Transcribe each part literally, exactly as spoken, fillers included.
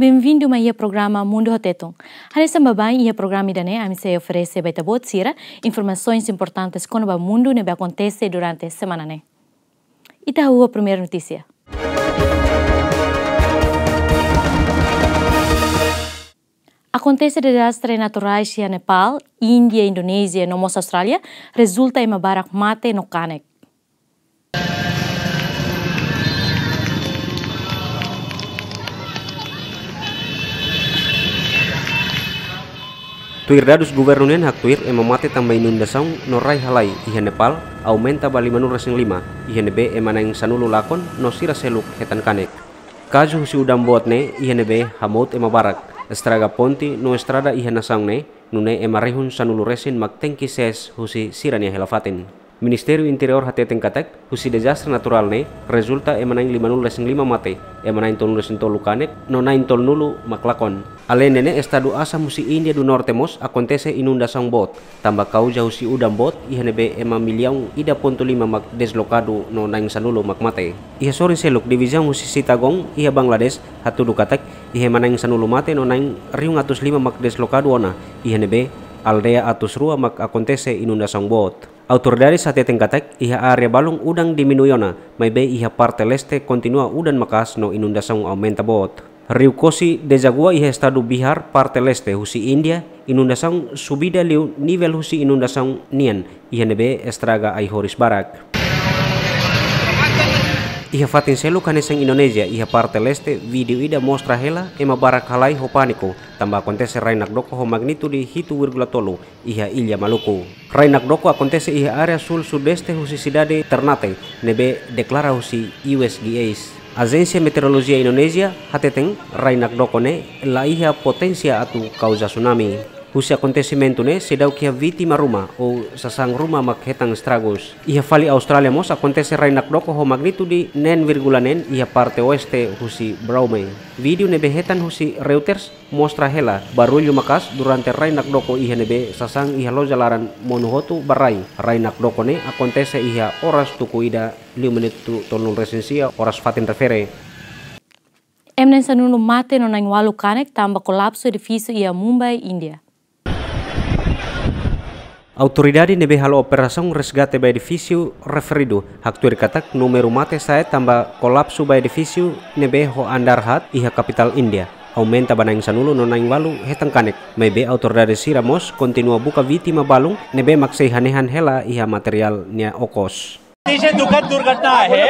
Benvindu mai iha programa Mundu ho Tetun. Hanesan baibain iha programa ida-ne'e, ami sei oferese ba ita-boot sira informasoens importantes kona-ba mundu ne'ebé akontese durante semana ne'e. Ita hahú ho primeiru notísia. Akontese dezastre naturais iha Nepal, Índia, Indonézia no mós Austrália rezulta ema barak mate no kanek. Tuir dadus governu nian haktuir, ema mate tanba inundasaun no rai halai iha Nepal aumenta ba limanulu resin lima, iha ne'ebé ema na'in sanulu lakon no sira seluk hetan kanek. Kazu husi udan boot ne'e iha ne'ebé hamout ema barak, estraga ponte no estrada iha nasaun ne'e, nune'e ema rihun sanulu resin mak tenke sees husi sira-nia hela-fatin. Ministériu Interiór hateten katak, husi dezastre naturál ne'e rezulta ema na'in limanulu resin lima mate, ema na'in tolunulu resin tolu kanek, no na'in tolunulu mak lakon. Aleinde ne'e, estadu Assam husi Índia du Norte mós akontese inundasaun boot, tanba kauza husi udan boot, iha ne'ebé ema millaun ida pontu lima mak deslokadu no na'in sanulu mak mate. Iha sorin seluk, divizaun husi Chittagong iha Bangladesh hatudu katak, iha ema na'in sanulu mate no na'in rihun atus lima mak deslokadu ona, iha ne'ebé aldeia atus rua mak akontese inundasaun boot. Autoridades hateten katak, iha área balun udan diminui ona, maibé iha parte leste kontinua udan maka'as no inundasaun aumenta boot. Riu Kosi dezagua iha estadu Bihar, parte leste husi Índia, inundasaun subida liu nivel husi inundasaun nian, iha ne'ebé estraga ai-horis barak. Iha fatin seluk hanesan Indonézia, iha parte leste, vídeo ida mostra hela ema barak halai ho pániku, tanba akontese rai nakdoko ho magnitude hitu vírgula tolu iha Ilha Maluku. Rai nakdoko akontese iha área sul-sudeste husi sidade Ternate, ne'ebé deklara husi U S G S. Ajénsia Meteorolojia Indonézia hateten rai nakdoko ne'e la iha poténsia atu kauza tsunami. Husi akontesimentu ne'e seidauk iha vítima ruma ou sasán ruma mak hetan estragus. Iha fali Austrália mós akontese rai nakdoko ho magnitude neen vírgula neen iha parte oeste husi Brougham. Vídeo ne'ebé hetan husi Reuters mostra hela barullu maka'as durante rai nakdoko iha ne'ebé sasán iha loja laran monu hotu ba rai. Rai nakdoko ne'e akontese iha oras tuku ida liu minutu tolunulu resin sia oras fatin refere. Ema na'in sanulu mate no na'in ualu kanek tanba kolapsu edifísiu iha Mumbai, Índia. Autoridade ne'ebé halo operasaun resgate ba edifísiu referidu haktuir katak númeru mate sa'e tanba kolapsu ba edifísiu ne'ebé ho andár haat iha kapitál Índia aumenta ba na'in sanulu no na'in ualu hetan kanek. Maibé autoridade sira mós kontinua buka vítima balun ne'ebé mak sei hanehan hela iha materiál nia okos. अतिशय दुःखद दुर्घटना आहे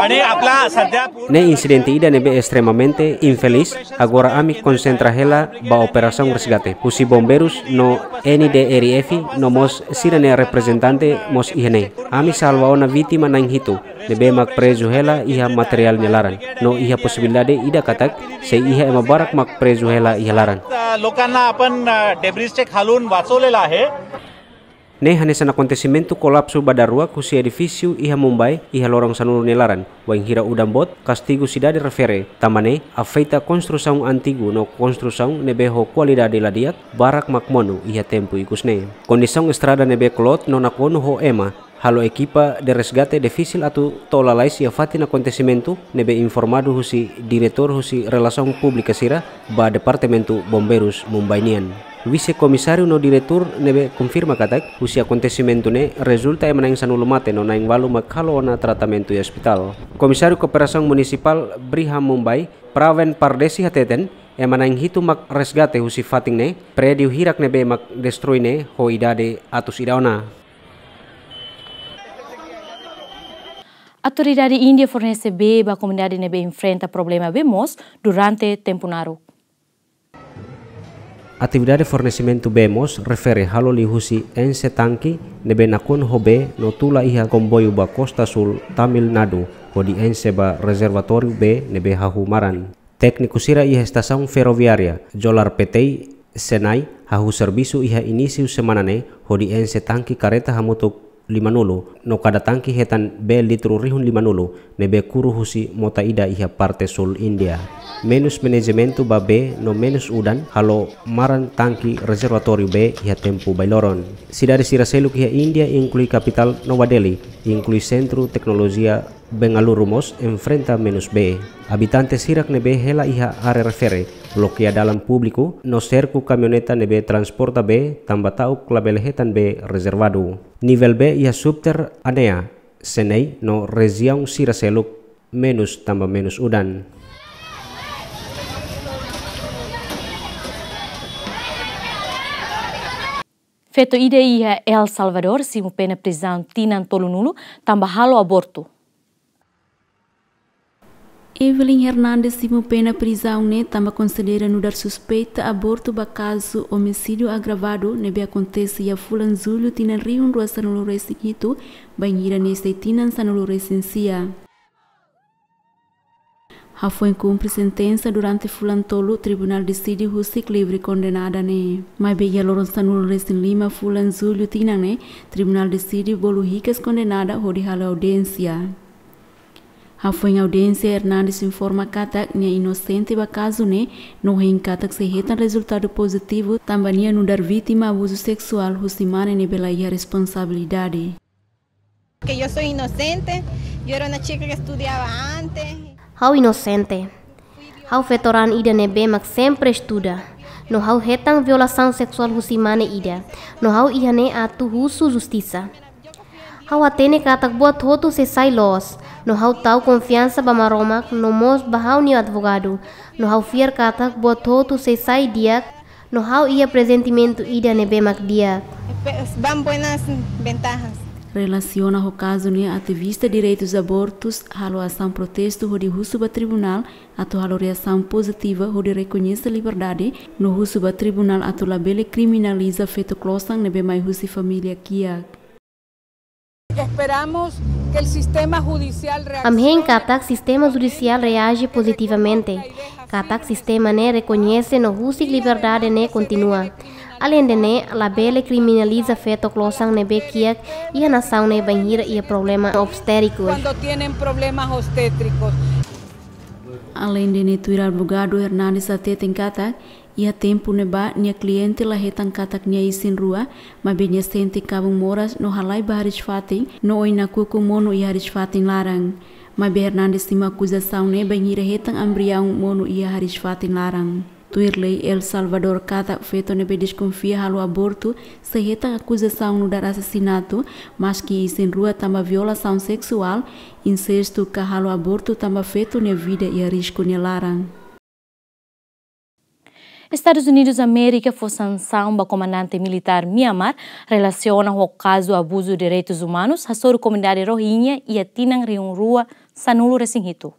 आणि आपला सध्या पूर्ण Ne'e insidente ida ne'ebé estremamente infeliz. Agora ami konsentra hela ba operasaun resgate. Husi bombeirus no N D R F no mós sira-nia reprezentante mós iha ne'e. Ami salva ona vítima na'in hitu, ne'ebé mak prezu hela iha materiál nia laran. No iha posibilidade ida katak sei iha ema barak mak prezu hela iha laran. लोकांना आपण डेब्रिजचे खालून वाचवलेलं आहे. Ne'e hanesan akontesimentu kolapsu ba daruak husi edifísiu iha Mumbai iha loron sanulu nia laran, wainhira udan boot kastigu sidade refere, tanba ne'e afeta konstrusaun antigu no konstrusaun ne'ebé ho kualidade la di'ak barak mak monu iha tempu ikus ne'e. Kondisaun estrada ne'ebé kloot no nakonu ho ema, halo ekipa de resgate difisil atu to'o lalais iha fatin akontesimentu, ne'ebé informadu husi diretór husi relasaun públika sira ba Departamentu Bombeirus Mumbai nian. Vise-komisáriu no diretór ne'ebé konfirma katak, husi akontesimentu ne'e rezulta ema na'in sanulu mate no na'in ualu mak halo ona tratamentu iha ospitál. Komisáriu Kooperasaun Munisipál Brihamumbai, Praveen Pardesi hateten, ema na'in hitu mak resgate husi fatin ne'e, prédiu hirak ne'ebé mak destrui ne'e ho idade atus ida ona. Autoridade Índia fornese bee ba komunidade ne'ebé enfrenta problema bee moos durante tempu naruk. Atividade fornesimentu bee moos refere halo liuhusi enxe tanke ne'ebé nakonu ho bee no tula iha komboiu ba kosta súl Tamil Nadu, hodi enxe ba rezervatóriu bee ne'ebé hahú maran. Tékniku sira iha estasaun ferroviária Jollarpettai, Chennai, hahú servisu iha inísiu semana ne'e, hodi enxe tanke karreta hamutuk limanulu, no kada tanke hetan bee litru rihun limanulu, ne'ebé kuru husi mota ida iha parte súl Índia. Menus manajementu ba bee no menus udan halo maran tanke rezervatóriu bee iha tempu bailoron. Sidade sira seluk iha Índia, inklui kapitál Nova Delhi, inklui sentru teknolojia Bengaluru mós enfrenta menus bee. Abitante sira ne'ebé hela iha área refere, loke dalan públiku, no serku kamioneta ne'ebé transporta bee, tanba ta'uk labele hetan bee rezervadu. Nivel bee iha Subter Anea, Senei no rejiaun sira seluk menus tanba menus udan. Feto ida iha El Salvador simu pena prizaun tinan tolunulu tanba halo abortu. Evelyn Hernandes simu pena prizaun ne'e tanba konsidera nu'udar suspeita abortu ba kazu omisídiu agravadu ne'ebé akontese iha fulan Jullu tinan rihun rua sanulu resin hitu, bainhira ne'e sei tinan sanulu resin sia. Hafoin kumpre sentensa durante fulan tolu, tribunál deside husik livre kondenada ne'e. Maibé iha loron sanulu resin lima fulan Jullu tinan ne'e, tribunál deside bolu hikas kondenada hodi halo audiénsia. Hafoin audiénsia, Hernandes informa katak nia inosente ba kazu ne'e, no hein katak sei hetan rezultadu pozitivu tanba nia nu'udar vítima abuzu seksuál husi mane ne'ebé la iha responsabilidade. Que yo soy inocente, yo era una chica que estudiaba antes. Ha'u inosente. Ha'u feto raan ida ne'ebé mak sempre estuda. No ha'u hetan violasaun seksuál husi mane ida. No ha'u iha ne'e atu husu justisa. Ha'u hatene katak buat hotu sei sai loos. No ha'u tau konfiansa ba Maromak, no mós ba ha'u-nia advogadu. No ha'u fiar katak buat hotu sei sai di'ak, no ha'u iha prezentimentu ida ne'ebé mak di'ak. Espe-, van buenas ventajas. Relasiona ho kazu ne'e, ativista direitus abortus halo asaun protestu hodi husu ba tribunál atu halo reasaun pozitiva hodi rekoñese liberdade, no husu ba tribunál atu labele kriminaliza feto klosan ne'ebé mai husi família kiak. Esperamos que el sistema judicial reaccione. Ami hein katak sistema judisiál reaje pozitivamente, katak sistema ne'e rekoñese no husik liberdade ne'e kontinua. Aleinde ne'e, labele kriminaliza feto klosan ne'ebé kiak iha nasaun ne'e bainhira iha problema obstétriku. Cuando tienen problemas obstétricos. Aleinde ne'e, tuir advogadu, Hernandes hateten katak iha tempu ne'ebá nia kliente la hetan katak nia isin-rua, maibé nia sente kabun moras no halai ba hariis-fatin, no oin nakukun monu iha hariis-fatin laran. Maibé Hernandes simu akuzasaun ne'e bainhira hetan embriaun monu iha hariis-fatin laran. Tuir lei El Salvador katak feto ne'ebé deskonfia halo abortu sei hetan akuzasaun nu'udar asasinatu, maski isin-rua tanba violasaun seksuál, insestu ka halo abortu tanba feto nia vida iha risku nia laran. Estadus Unidus Amérika fó sansaun ba komandante militár Myanmar relasiona ho kazu abuzu direitus umanus hasoru komunidade Rohingya iha tinan rihun rua sanulu resin hitu.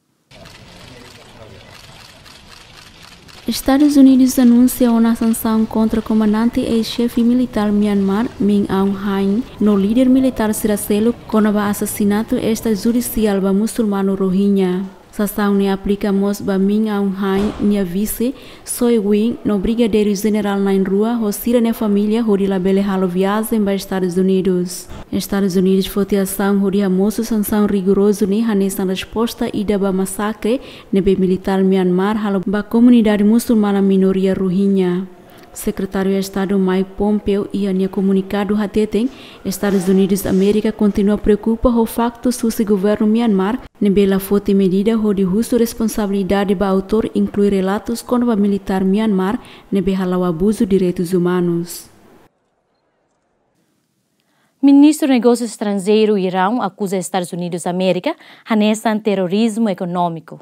Estadus Unidus anunsia ona sansaun kontra komandante eis-xefe militár Myanmar, Min Aung Hlaing, no líder militár sira seluk kona-ba asasinatu estrajudisiál ba musulmanu Rohingya. Sansaun ne'e aplika mós ba Min Aung Hlaing nia vise, Soe Win, no brigadeiru jenerál na'in-rua ho sira-nia família hodi labele halo viajen ba Estadus Unidus. Estadus Unidus foti asaun hodi hamosu sansaun rigorozu ne'e hanesan resposta ida ba masakre ne'ebé militár Myanmar halo ba komunidade musulmana minoria Rohingya. Sekretáriu Estadu Mike Pompeo iha nia komunikadu hateten, Estadus Unidus Amérika kontinua preokupa ho faktus husi governu Myanmar ne'ebé la foti medida hodi husu responsabilidade ba autór, inklui relatus kona-ba militár Myanmar ne'ebé hala'o abuzu direitus umanus. Ministru Negósiu Estranjeiru Iraun akuza Estadus Unidus Amérika hanesan terrorizmu ekonómiku.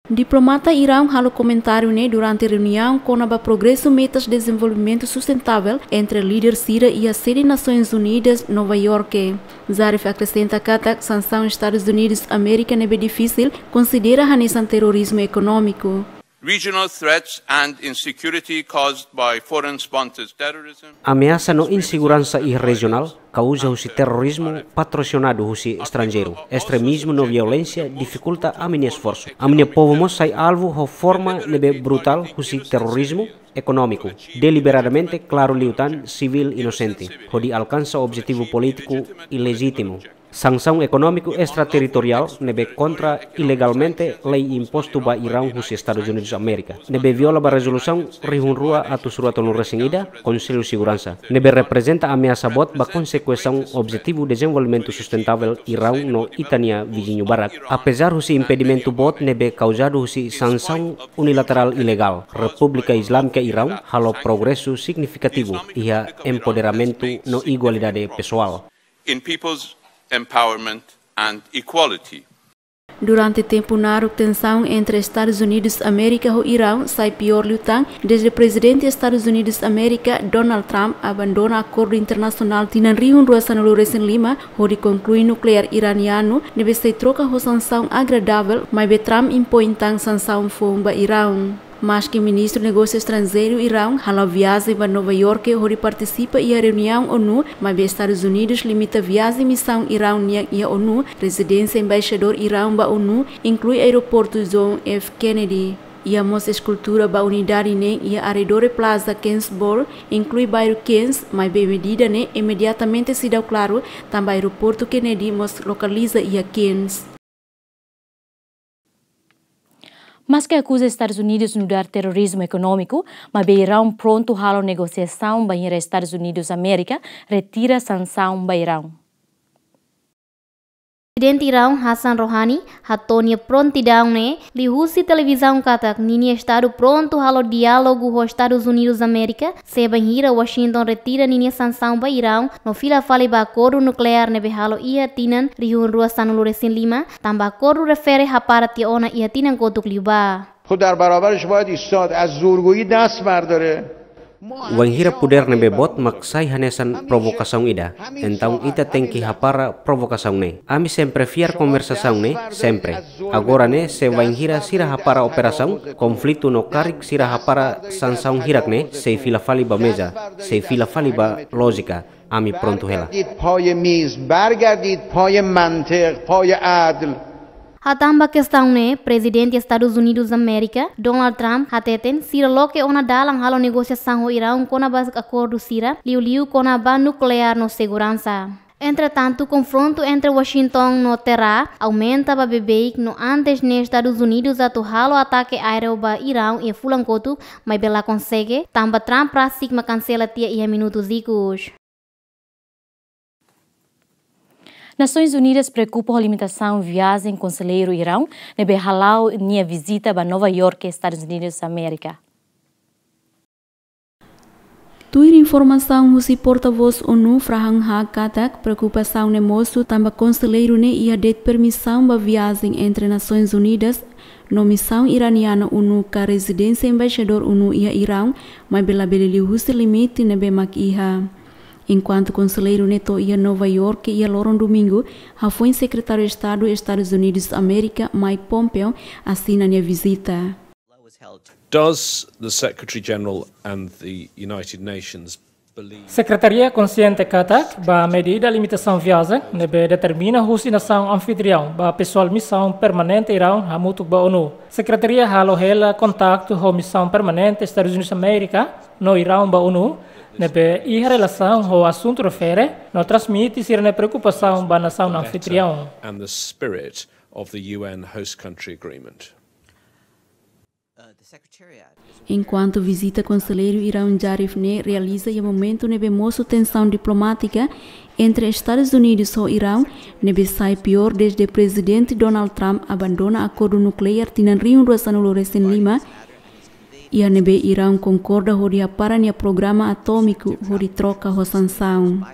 Diplomata Iraun halo komentáriu ne'e durante reuniaun kona-ba progresu metas dezenvolvimentu sustentável entre líder sira iha sede Nasoins Unidas, Nova Iorke. Zarif akresenta katak sansaun Estadus Unidus Amérika ne'ebé difisil konsidera hanesan terrorizmu ekonómiku. Regional threats and insecurity caused by foreign-sponsored terrorism. Ameasa no inseguransa iha rejionál kauza husi terrorizmu patrosinadu husi estranjeiru, estremismu no violénsia difikulta ami-nia esforsu. Ami-nia povu mós sai alvu ho forma ne'ebé brutál husi terrorizmu ekonómiku, deliberadamente, klaru liután, sivíl inosente, hodi alkansa objetivu polítiku ilejítimu. Sansaun ekonómiku estraterritoriál ne'ebé kontra ilegalmente lei impostu ba Iraun husi Estadus Unidus Amérika, ne'ebé viola ba rezolusaun rihun rua atus rua tolu resin ida Konsellu Seguransa, ne'ebé reprezenta ameasa boot ba konsekuensaun objetivu dezenvolvimentu sustentável Iraun no ita-nia viziñu barak. Apezar husi impedimentu boot ne'ebé kauzadu husi sansaun unilaterál ilegál, Repúblika Islámika Iraun halo progresu signifikativu iha empoderamentu no igualdade pesoál. In people's empowerment and equality. Durante tempu naruk, tensaun entre Estadus Unidus Amérika ho Iraun sai piór liután dezde Prezidente Estadus Unidus Amérika, Donald Trump, abandona akordu internasionál tinan rihun rua sanulu resin lima hodi konklui nukleár iranianu, ne'ebé sei troka ho sansaun agradável, maibé Trump impoin tan sansaun foun ba Iraun. Maski Ministru Negósiu Estranjeiru Iraun hala'o viajen ba Nova Iorke hodi partisipa iha reuniaun ONU, maibé Estadus Unidus limita viajen misaun Iraun nian iha ONU, rezidénsia embaixadór Iraun ba ONU, inklui aeroportu John F Kennedy. Iha mós eskultura ba unidade neen iha arredór Plaza Queensboro, inklui bairru Queens, maibé medida ne'e imediatamente seidauk klaru, tanba aeroportu Kennedy mós lokaliza iha Queens. Maski akuza Estadus Unidus nu'udar terrorizmu ekonómiku, maibé Iraun prontu halo negosiasaun bainhira Estadus Unidus Amérika retira sansaun ba Iraun. Prezidente Iraun Hassan Rouhani hato'o nia prontidaun ne'e liuhusi televizaun katak ninia estadu prontu halo diálogu ho Estadus Unidus Amérika, se bainhira Washington retira ninia sansaun ba Iraun no fila fali ba akordu nukleár ne'ebé halo iha tinan rihun rua sanulu resin lima, tanba akordu refere hapara tiha ona iha tinan kotuk liubá. خب در برابرش باید ایستاد، از زورگویی دست برداره. Wainhira podér ne'ebé boot mak sai hanesan provokasaun ida, entaun ita tenke hapara provokasaun ne'e. Ami sempre fiar konversasaun ne'e, sempre. Agora ne'e, se wainhira sira hapara operasaun, konflitu no karik sira hapara sansaun hirak ne'e, sei fila fali ba meza, sei fila fali ba lójika, ami prontu hela. برگردید پای میز، برگردید پای منطق، پای عدل. Hatán ba kestaun ne'e, Prezidente Estadus Unidus Amérika, Donald Trump, hateten sira loke ona dalan halo negosiasaun ho Iraun kona-ba akordu sira, liuliu kona-ba nukleár no seguransa. Entretantu, konfrontu entre Washington no Tehrã aumenta ba beibeik no antes ne'e Estadus Unidus atu halo atake aéreu ba Iraun iha fulan kotuk, maibé la konsege, tanba Trump rasik mak kansela tiha iha minutus ikus. Nasoins Unidas preokupa ho limitasaun viajen konselleiru Iraun ne'ebé hala'o nia vizita ba Nova Iorke, Estadus Unidus Amérika. Tuir informasaun husi portavós ONU, Farhan Haq, katak preokupasaun ne'e mosu tanba konselleiru ne'e iha de'it permisaun ba viajen entre Nasoins Unidas no misaun iraniana ONU ka rezidénsia embaixadór ONU iha Iraun, maibé labele liuhusi limite ne'ebé mak iha. Enkuantu konselleiru ne'e to'o iha Nova Iorke iha loron Domingu, hafoin Sekretáriu Estadu Estadus Unidus Amérika, Mike Pompeo, asina nia vizita. Does the Secretary General and the United Nations believe Sekretaria konsiente katak ba medida limitasaun viajen ne'ebé determina husi nasaun anfitriaun ba pesoál misaun permanente Iraun hamutuk ba ONU. Sekretaria halo hela kontaktu ho misaun permanente Estadus Unidus Amérika no Iraun ba ONU, ne'ebé iha relasaun ho asuntu refere no transmite sira-nia preokupasaun ba nasaun anfitriaun. And the spirit of the U N host country agreement. Enkuantu vizita konselleiru Iraun Zarif ne'e realiza iha momentu ne'ebé mosu tensaun diplomátika entre Estadus Unidus ho Iraun, ne'ebé sai piór dezde Prezidente Donald Trump abandona akordu nukleár tinan rihun rua sanulu resin lima, iha ne'ebé Iraun konkorda hodi hapara nia programa atómiku hodi troka ho sansaun.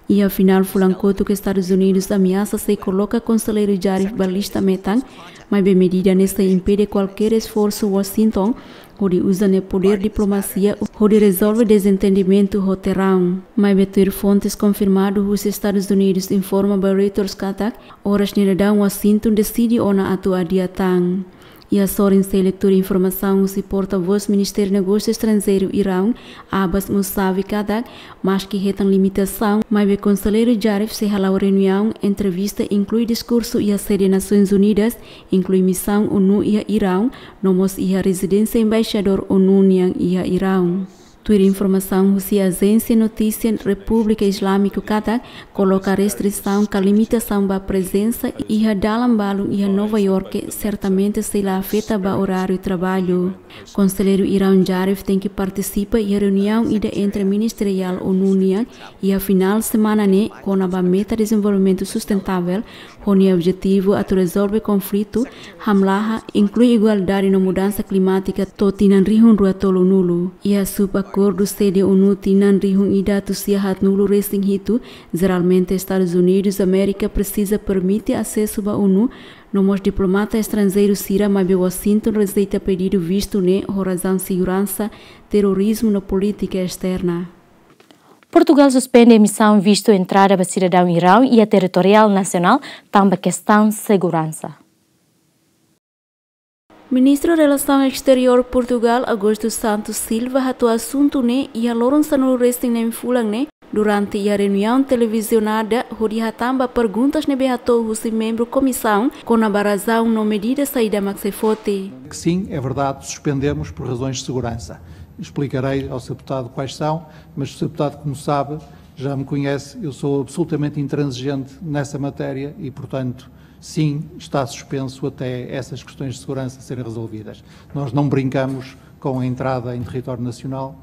Iha finál fulan kotuk Estadus Unidus ameasa sei koloka konselleiru Zarif ba lista metan, maibé medida ne'e sei impede kualkér esforsu Washington hodi uza nia podér diplomasia hodi rezolve dezentendimentu ho Tehrã. Maibé tuir fontes konfirmadu husi Estadus Unidus informa ba Reuters katak, oras ne'e daudaun Washington deside ona atu adia tan. Iha sorin sei leitura informasaun husi portavós Ministériu Negósiu Estranjeiru Iraun, Abbas Mousavi, katak, maski hetan limitasaun, maibé konselleiru Zarif sei hala'o reuniaun, entrevista, inklui diskursu iha sede Nasoins Unidas, inklui misaun ONU iha Iraun, no mós iha rezidénsia embaixadór ONU nian iha Iraun. Tuir informasaun husi Ajénsia Notísia Repúblika Islámika katak, koloka restrisaun ka limitasaun ba prezensa iha dalan balun iha Nova Iorke sertamente sei la afeta ba oráriu traballu. Konselleiru Iraun Jarif tenke partisipa iha reuniaun ida entre ministeriál ONU nian iha finál semana ne'e kona-ba meta dezenvolvimentu sustentável, ho nia objetivu atu rezolve konflitu, hamlaha, inklui igualdade no mudansa klimátika to'o tinan rihun rua tolunulu. Iha sub-akordu sede ONU tinan rihun ida atus sia haatnulu resin hitu, jeralmente Estadus Unidus Amérika presiza permite asesu ba ONU, no mós diplomata estranjeiru sira maibé Washington rejeita pedidu vistu ne'e ho razaun seguransa, terrorizmu no polítika esterna. Portugal suspende emisaun vistu entrada ba sidadaun Iraun iha territoriál nasionál tanba kestaun seguransa. Ministru Relasaun Exteriór Portugal, Augusto Santos Silva, hato'o asuntu ne'e iha loron sanulu resin neen fulan ne'e, durante iha reuniaun televizionada, hodi hatán ba perguntas ne'ebé hato'o husi membru komisaun, kona-ba razaun no medida saida mak sei foti. Sim, é verdade, suspendemos por razões de segurança. Explicarei ao senhor deputado quais são, mas o senhor deputado, como sabe, já me conhece, eu sou absolutamente intransigente nessa matéria e, portanto, sim, está suspenso até essas questões de segurança serem resolvidas. Nós não brincamos com a entrada em território nacional.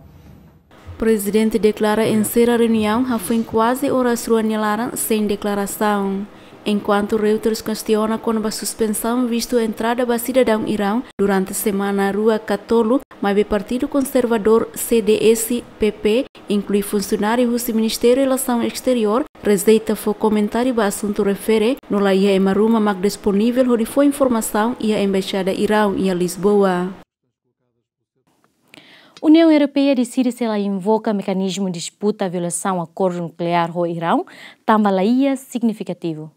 Prezidente deklara enserra reuniaun hafoin kuaze oras rua nia laran sein deklarasaun. Enkuantu Reuters kestiona kona-ba suspensaun vistu entrada ba sidadaun Iraun durante semana rua ka tolu, maibé Partidu Konservadór C D S, P P, inklui funsionáriu husi Ministériu Relasaun Exteriór, rejeita fó komentáriu ba asuntu refere, no la iha ema ruma mak disponivel hodi fó informasaun iha Embaixada Iraun iha Lisboa. Uniaun Europeia deside sei la invoka mekanizmu disputa violasaun akordu nukleár ho Iraun, tanba la iha signifikativu.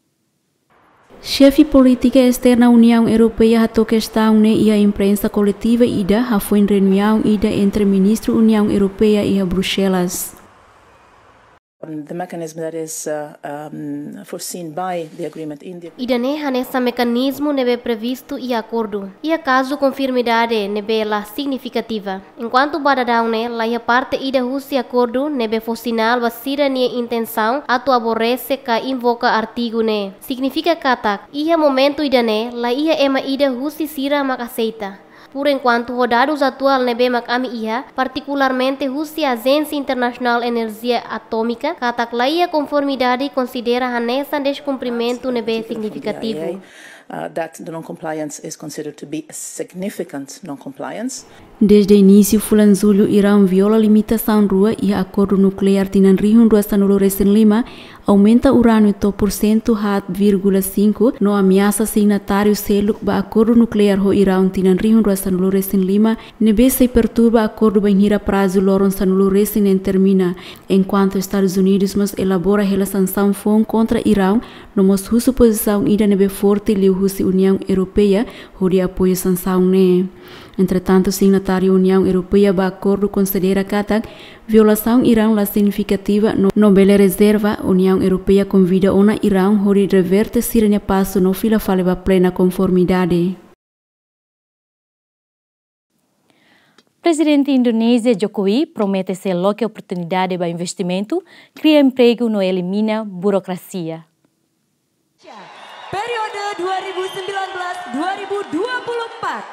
Xefe polítika esterna Uniaun Europeia hato'o kestaun ne'e iha imprensa koletiva ida hafoin reuniaun ida entre ministru Uniaun Europeia iha Bruxelas. The mechanism that is, uh, um, foreseen by the agreement in the Ida-ne'e hanesan mekanizmu ne'ebé previstu iha akordu. Iha kazu konformidade ne'ebé la signifikativa. Enkuantu ba daudaun ne'e la iha parte ida husi akordu ne'ebé fó sinál ba sira-nia intensaun atu aborrese ka invoka artigu ne'e. Signifika katak, iha momentu ida-ne'e la iha ema ida husi sira mak aseita. Por enkuantu, ho dadus atuál ne'ebé mak ami iha, partikularmente husi Ajénsia Internasionál Enerjia Atómika, katak la iha konformidade konsidera hanesan deskumprimentu ne'ebé signifikativu. Uh, that the non-compliance is considered to be a significant non-compliance. Desde inísiu fulan Jullu, Iraun viola limitasaun rua iha akordu nukleár tinan rihun rua sanulu resin lima, aumenta urániu to'o porsentu haat vírgula sinku, no ameasa signatáriu seluk ba akordu nukleár ho Iraun tinan rihun rua sanulu resin lima, ne'ebé sei perturba akordu bainhira prazu loron sanulu resin neen termina, enkuantu Estadus Unidus mós elabora hela sansaun foun kontra Iraun, no mós husu pozisaun ida ne'ebé forte liuhusi Uniaun Europeia hodi apoiu sansaun ne'e. Entretantu, signatáriu Uniaun Europeia ba akordu konsidera katak violasaun Iraun la signifikativa no, no bele rezerva. Uniaun Europeia konvida ona Iraun hodi reverte sira-nia pasu no fila fali ba plena konformidade. Prezidente Indonézia Jokowi promete sei loke oportunidade ba investimentu, kria empregu no elimina burokrasia. Periode dua ribu sembilan belas dua ribu dua puluh empat.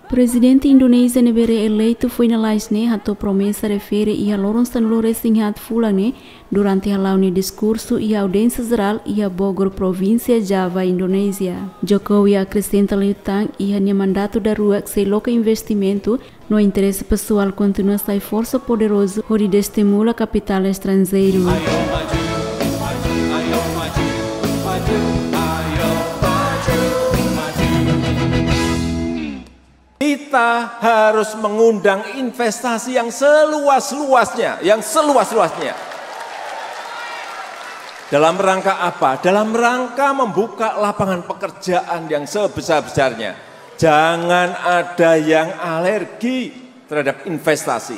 Prezidente Indonézia ne'ebé reeleitu foin lalais ne'e hato'o promesa refere iha loron sanulu resin haat fulan ne'e durante hala'o nia diskursu iha audiénsia jerál iha Bogor, provínsia Java, Indonézia. Jokowi akresenta liután iha nia mandatu daruak sei loke investimentu, no interese pesoál kontinua sai forsa poderozu hodi destimula kapitál estranjeiru. Kita harus mengundang investasi yang seluas-luasnya, yang seluas-luasnya. Dalam rangka apa? Dalam rangka membuka lapangan pekerjaan yang sebesar-besarnya. Jangan ada yang alergi terhadap investasi.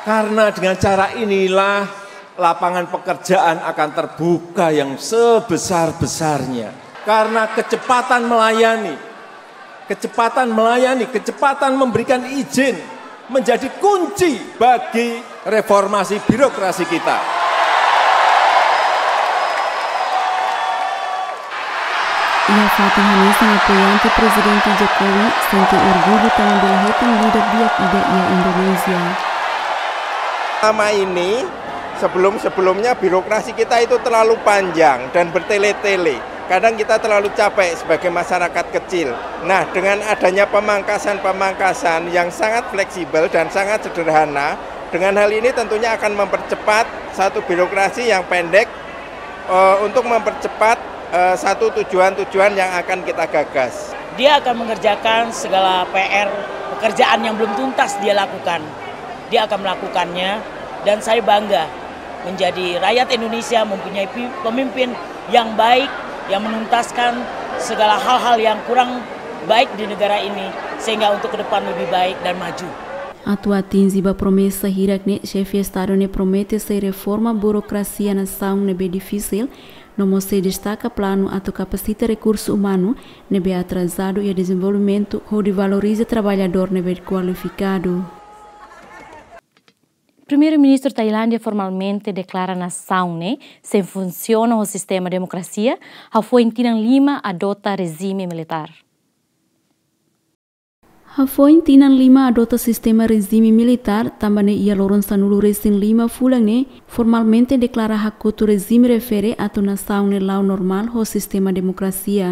Karena dengan cara inilah lapangan pekerjaan akan terbuka yang sebesar-besarnya. Karena kecepatan melayani, Kecepatan melayani, kecepatan memberikan izin menjadi kunci bagi reformasi birokrasi kita. Iha fatin hanesan, apoiante Prezidente Jokowi sente orgullu tanba bele hetan líder di'ak ida iha Indonézia. Selama ini, sebelum-sebelumnya birokrasi kita itu terlalu panjang dan bertele-tele. Kadang kita terlalu capek sebagai masyarakat kecil. Nah, dengan adanya pemangkasan-pemangkasan yang sangat fleksibel dan sangat sederhana, dengan hal ini tentunya akan mempercepat satu birokrasi yang pendek, eh, untuk mempercepat, eh, satu tujuan-tujuan yang akan kita gagas. Dia akan mengerjakan segala P R, pekerjaan yang belum tuntas dia lakukan. Dia akan melakukannya, dan saya bangga menjadi rakyat Indonesia, mempunyai pi-, pemimpin yang baik, yang menuntaskan segala hal-hal yang kurang baik di negara ini, sehingga untuk ke depan lebih baik dan maju. Atu atinje ba promesa hirak ne'e, Xefe Estadu ne'e promete sei reforma burokrasia nasaun ne'ebé difisil, no mós sei destaka planu atu kapasita rekursu umanu ne'ebé atrasadu iha dezenvolvimentu, hodi valoriza traballadór ne'ebé kualifikadu. Primeiru-Ministru Tailándia formalmente deklara nasaun ne'e sei funsiona ho sistema demokrasia, hafoin tinan lima adota rejime militár. Hafoin tinan lima adota sistema rejime militár, tanba ne'e iha loron sanulu-resin-lima fulan ne'e formalmente deklara hakotu rejime refere atu nasaun ne'e la'o normál ho sistema demokrasia.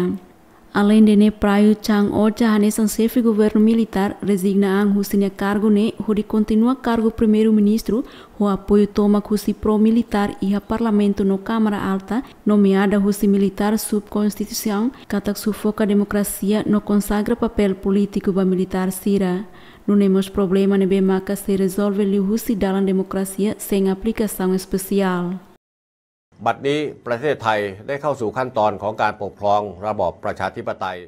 Aleinde ne'e, Prayut Chan-o-cha hanesan xefe governu militár rezigna an husi nia kargu ne'e hodi kontinua kargu primeiru-ministru ho apoiu tomak husi pro-militár iha Parlamentu no Kámara Alta, nomeada husi militár subkonstituisaun, katak sufoka demokrasia no konsagra papél polítiku ba militár sira. Nune'e mós problema ne'ebé maka sei rezolve liuhusi dalan demokrasia sein aplikasaun espesiál. บัดนี้ประเทศไทยได้เข้าสู่ขั้นตอนของการปกครองระบอบประชาธิปไตย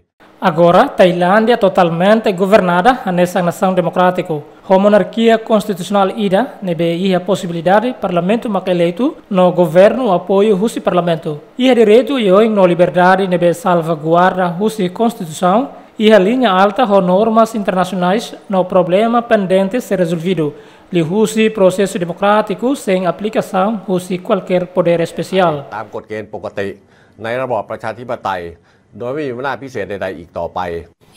Agora, Tailándia totalmente governada hanesan nasaun demokrátiku, ho monarkia konstitusionál ida ne'ebé iha posibilidade parlamentu mak eleitu no governu apoiu husi parlamentu. Iha direitu oioin no liberdade ne'ebé salvaguarda husi konstituisaun, iha liña alta ho normas internasionais no problema pendente sei rezolvidu liuhusi prosesu demokrátiku sein aplikasaun husi kualkér podér espesiál. ตามกฎเกณฑ์ปกติในระบอบประชาธิปไตย โดยไม่มีอำนาจพิเศษใดๆอีกต่อไป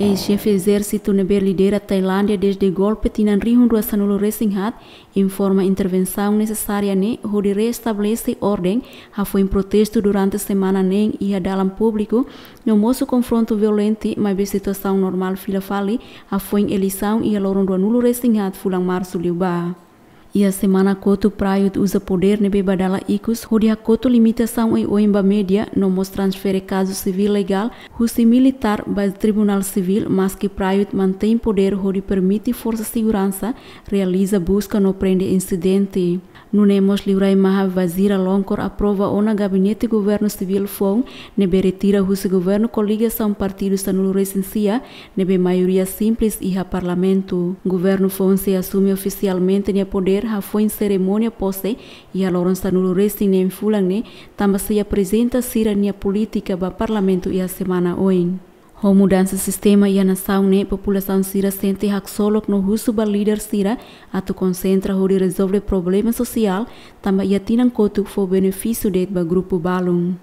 Eis-xefe ezérsitu ne'ebé lidera Tailándia dezde golpe tinan rihun rua sanulu-resin-haat informa intervensaun nesesária ne'e hodi reestabelese orden, hafoin protestu durante semana neen iha dalan públiku, no mosu konfrontu violente, maibé situasaun normál fila fali hafoin eleisaun iha loron ruanulu-resin-haat fulan Marsu liubá. Iha semana kotuk Prayut uza podér ne'ebé ba dala ikus hodi hakotu limitasaun oioin ba média, no mós transfere kazu sivíl legál husi militár ba Tribunál Sivíl, maski Prayut mantein podér hodi permite forsa seguransa realiza buska no prende insidente. Nune'e mós liurai Maha Vaziralongkorn aprova ona gabinete governu sivíl foun ne'ebé retira husi governu koligasaun partidu sanulu-resin-sia, ne'ebé maioria simples iha parlamentu. Governu foun sei asume ofisialmente nia podér hafoin serimónia pose iha loron sanulu-resin-neen fulan ne'e, tanba sei aprezenta sira-nia polítika ba parlamentu iha semana oin. Ho mudansa sistema iha nasaun ne'e, populasaun sira sente haksolok no husu ba líder sira atu konsentra hodi rezolve problema sosiál, tanba iha tinan kotuk fó benefísiu de'it ba grupu balun.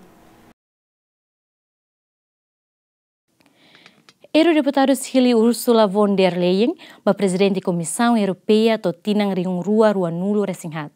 Eurodeputadu Hilly Ursula von der Leyen ba Prezidente Komisaun Europeia to'o tinan rihun rua ruanulu-resin-haat.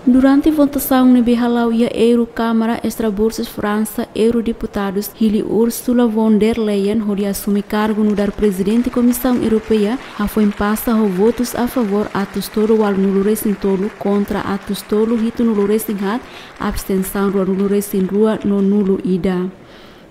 Durante votasaun ne'ebé hala'o iha Eurokámara, Estrasburgu, Fransa, Eurodeputadu Hilly Ursula von der Leyen hodi asume kargu nu'udar Prezidente Komisaun Europeia, hafoin pasa ho votus a favór atus tolu ualunulu-resin-tolu, kontra atus tolu hitunulu-resin-haat, abstensaun ruanulu-resin-rua no nulu ida.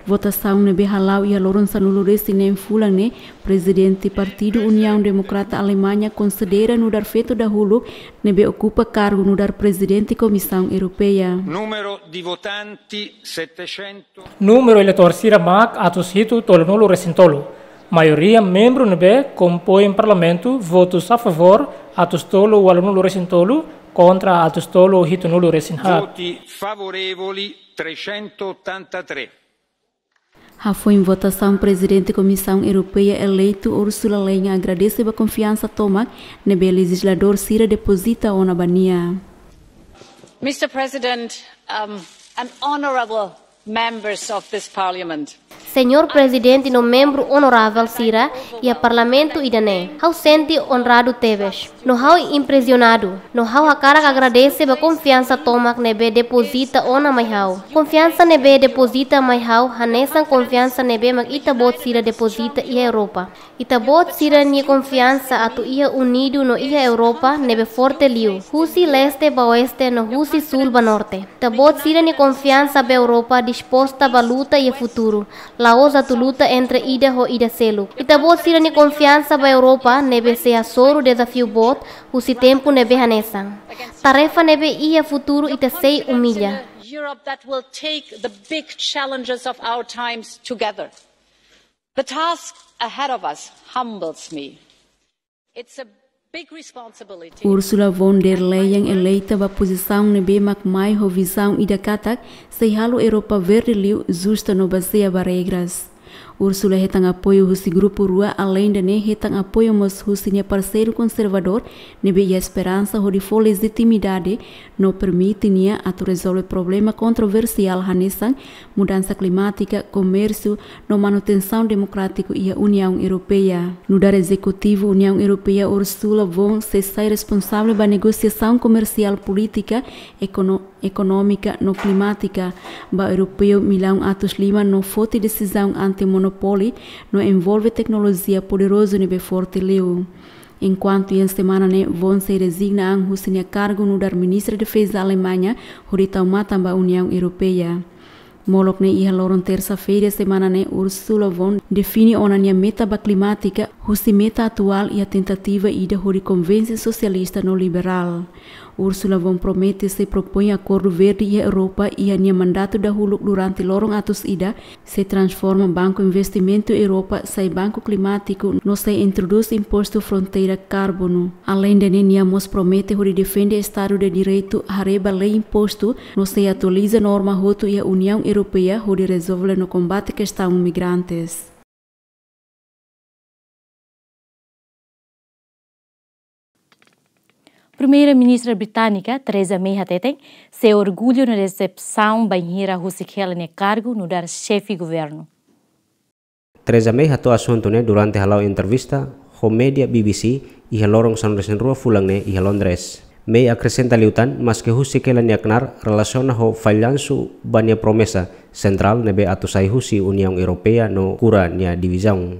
Votasaun ne'ebé hala'o iha loron sanulu-resin-neen fulan ne'e, Prezidente Partidu Uniaun Demokrata Alemaña konsidera nu'udar feto dahuluk ne'ebé okupa kargu nu'udar Prezidente Komisaun Europeia. Numero di votanti settecento. Númeru eleitór sira mak atus hitu tolunulu-resin-tolu. Maioria membru ne'ebé kompoin Parlamentu, votus a favór atus tolu ualunulu-resin-tolu, kontra atus tolu hitunulu-resin-haat. Voti favorevoli trecentottantatré. Hafoin votasaun, Prezidente Komisaun Europeia eleitu Ursula Leyen agradese ba konfiansa tomak ne'ebé lejizladór sira depozita ona ba nia. Mister President, um, and honorable members of this Parliament. Señór Prezidente no membru onorável sira iha Parlamentu ida-ne'e, ha'u sente onradu tebes. No ha'u impresionadu, no ha'u hakarak agradese ba konfiansa tomak ne'ebé depozita ona mai ha'u. Konfiansa ne'ebé depozita mai ha'u hanesan konfiansa ne'ebé mak ita-boot sira depozita iha Europa. Ita-boot sira-nia konfiansa atu iha unidu no iha Europa ne'ebé forte liu, husi leste ba oeste no husi súl ba norte. Ita-boot sira-nia konfiansa ba Europa disposta ba luta iha futuru, la'ós atu luta entre ida ho ida seluk. Ita-boot sira-nia konfiansa ba Europa ne'ebé sei hasoru dezafiu boot husi tempu ne'ebé hanesan. Tarefa ne'ebé iha futuru ita sei umilla. Europe that will take the big challenges of our times together. The task ahead of us humbles me. It's a big responsibility. Ursula von der Leyen eleita ba pozisaun ne'ebé mak mai ho vizaun ida katak sei halo Europa verde liu, justu no bazeia ba regras. Ursula hetan apoiu husi grupu rua, aleinde ne'e hetan apoiu mós husi nia parseiru konservadór ne'ebé iha esperansa hodi fó lejitimidade no permite nia atu rezolve problema kontroversiál hanesan mudansa klimátika, komérsiu no manutensaun demokrátiku iha Uniaun Europeia. Nu'udar ezekutivu Uniaun Europeia, Ursula von sei sai responsavel ba negosiasaun komersiál, polítika, ekono-, ekonómika no klimátika ba europeu millaun atus lima no foti desizaun anti-monopóliu no envolve teknolojia poderozu ne'ebé forte liu. Enkuantu iha semana ne'e von sei rezigna an husi nia kargu nu'udar Ministra Defeza Alemaña hodi tau matan ba Uniaun Europeia. Molok ne'e iha loron tersa-feira semana ne'e Ursula von define ona nia meta ba klimátika husi meta atuál iha tentativa ida hodi konvense sosialista no liberál. Ursula von promete sei propoin akordu verde iha Europa iha nia mandatu dahuluk durante loron atus ida, sei transforma Banku Investimentu Europa sai banku klimátiku no sei introdús impostu fronteira karbonu. Aleinde ne'e nia mós promete hodi defende Estadu de Direitu, haree ba lei impostu no sei atualiza norma hotu iha Uniaun Europeia hodi rezolve no kombate kestaun migrantes. Primeira-Ministra británika Theresa May hateten, sei orgullu no desepsaun bainhira husik hela nia kargu nu'udar xefe governu. Theresa May hato'o asuntu ne'e durante hala'o entrevista ho média B B C iha loron sanulu-resin-rua fulan ne'e iha Londres. May akresenta liután, maske husik hela nia knaar relasiona ho fallansu ba nia promesa sentrál ne'ebé atu sai husi Uniaun Europeia no kura nia divizaun.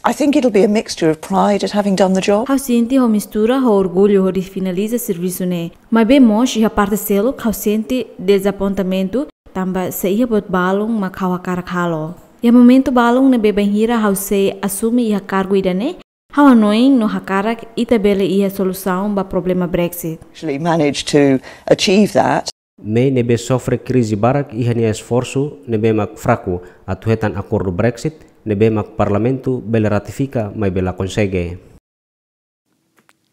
I think it'll be a mixture of pride at having done the job. Ha'u sente ho mistura ho orgullu hodi finaliza servisu ne'e. Maibé mós iha parte seluk ha'u sente dezapontamentu, tanba sei iha buat balun mak ha'u hakarak halo. Iha momentu balun ne'ebé bainhira ha'u sei asume iha kargu ida-ne'e, ha'u hanoin no hakarak ita bele iha solusaun ba problema Brexit. Actually managed to achieve that. May ne'ebé sofre krize barak iha nia esforsu ne'ebé mak fraku atu hetan akordu Brexit ne'ebé mak Parlamentu bele ratifika, maibé la konsege.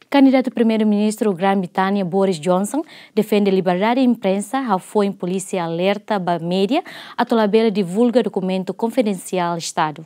Kandidatu Primeiru-Ministru Grã-Bretannia Boris Johnson defende liberdade imprensa, hafoin polísia alerta ba média atu labele divulga dokumentu konfidensiál Estadu.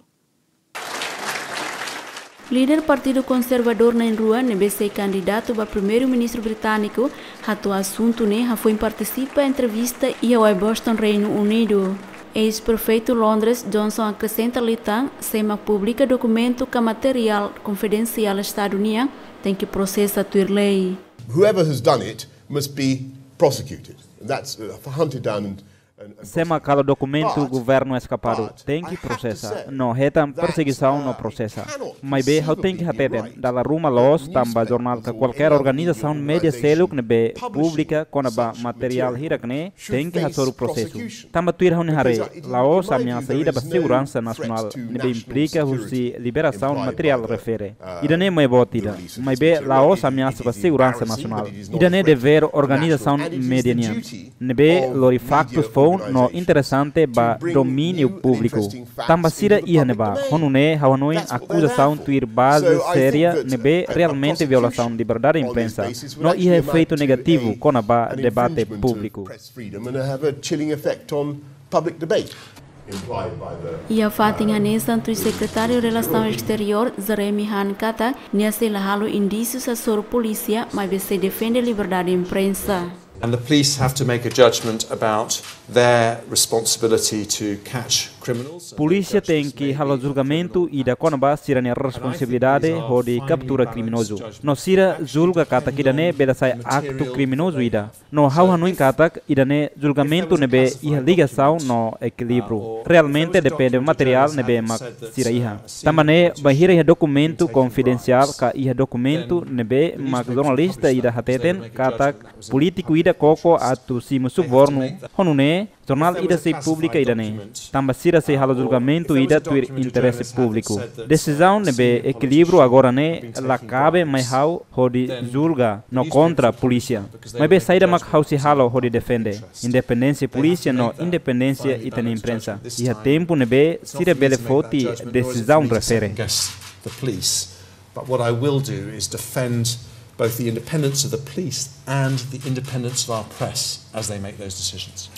Líder Partidu Konservadór na'in-rua ne'ebé sei kandidatu ba Primeiru-Ministru britániku hato'o asuntu ne'e hafoin partisipa entrevista iha Uaiboston, Reinu Unidu. Eis-Prefeitu Londres, Johnson akresenta liután, sé mak publika dokumentu ka materiál konfidensiál Estadu nian, tenke prosesa tuir lei. Whoever has done it must be prosecuted. That's, uh, hunted down and, and, and Sé mak halo dokumentu governu eskapadu tenke prosesa, no hetan persegisaun no prosesa. Maibé ha'u tenke hateten, dala ruma loos tanba jornál ka kualkér organizasaun média seluk ne'ebé publika kona-ba materiál hirak-ne'e, tenke hasoru prosesu. Tanba tuir ha'u-nia haree, la'ós ameasa ida ba seguransa nasionál ne'ebé implika husi liberasaun materiál refere. Ida-ne'e mai boot ida, maibé la'ós ameasa ba seguransa nasionál. Ida-ne'e devér organizasaun média nian, ne'ebé lori faktus foun no interesante ba domíniu públiku. Tanba sira iha ne'ebá, ho nune'e ha'u hanoin akuzasaun tuir baze séria ne'ebé realmente violasaun liberdade imprensa, no iha efeitu negativu kona-ba debate públiku. Press freedom and have a chilling effect on public debate. Iha fatin hanesan tuir Sekretáriu Relasaun Esteriór, Jeremy Hunt katak, nia sei la halo indísiu hasoru polísia, maibé sei defende liberdade imprensa. And the police have to make a judgment about their responsibility to catch criminals. Polísia tenke halo julgamentu ida kona-ba sira-nia responsabilidade hodi kaptura kriminozu. No sira julga katak ida-ne'e bele sai aktu kriminozu ida. No ha'u hanoin katak ida-ne'e julgamentu ne'ebé iha ligasaun no ekilíbriu. Realmente depende materiál ne'ebé mak sira iha. Tanba ne'e bainhira iha dokumentu konfidensiál ka iha dokumentu ne'ebé mak jornalista ida hateten katak polítiku ida koko atu simu subornu, ho nune'e jornál ida sei publika ida-ne'e. Tanba sira sei halo julgamentu ida tuir interese públiku. Desizaun ne'ebé ekilíbriu agora ne'e la kabe mai ha'u hodi julga no kontra polísia. Maibé saida mak ha'u sei halo hodi defende independénsia polísia no independénsia ita-nia imprensa. Iha tempu ne'ebé sira bele foti desizaun refere. But what I will do is defend both the independence of the police and the independence of our press as they make those decisions.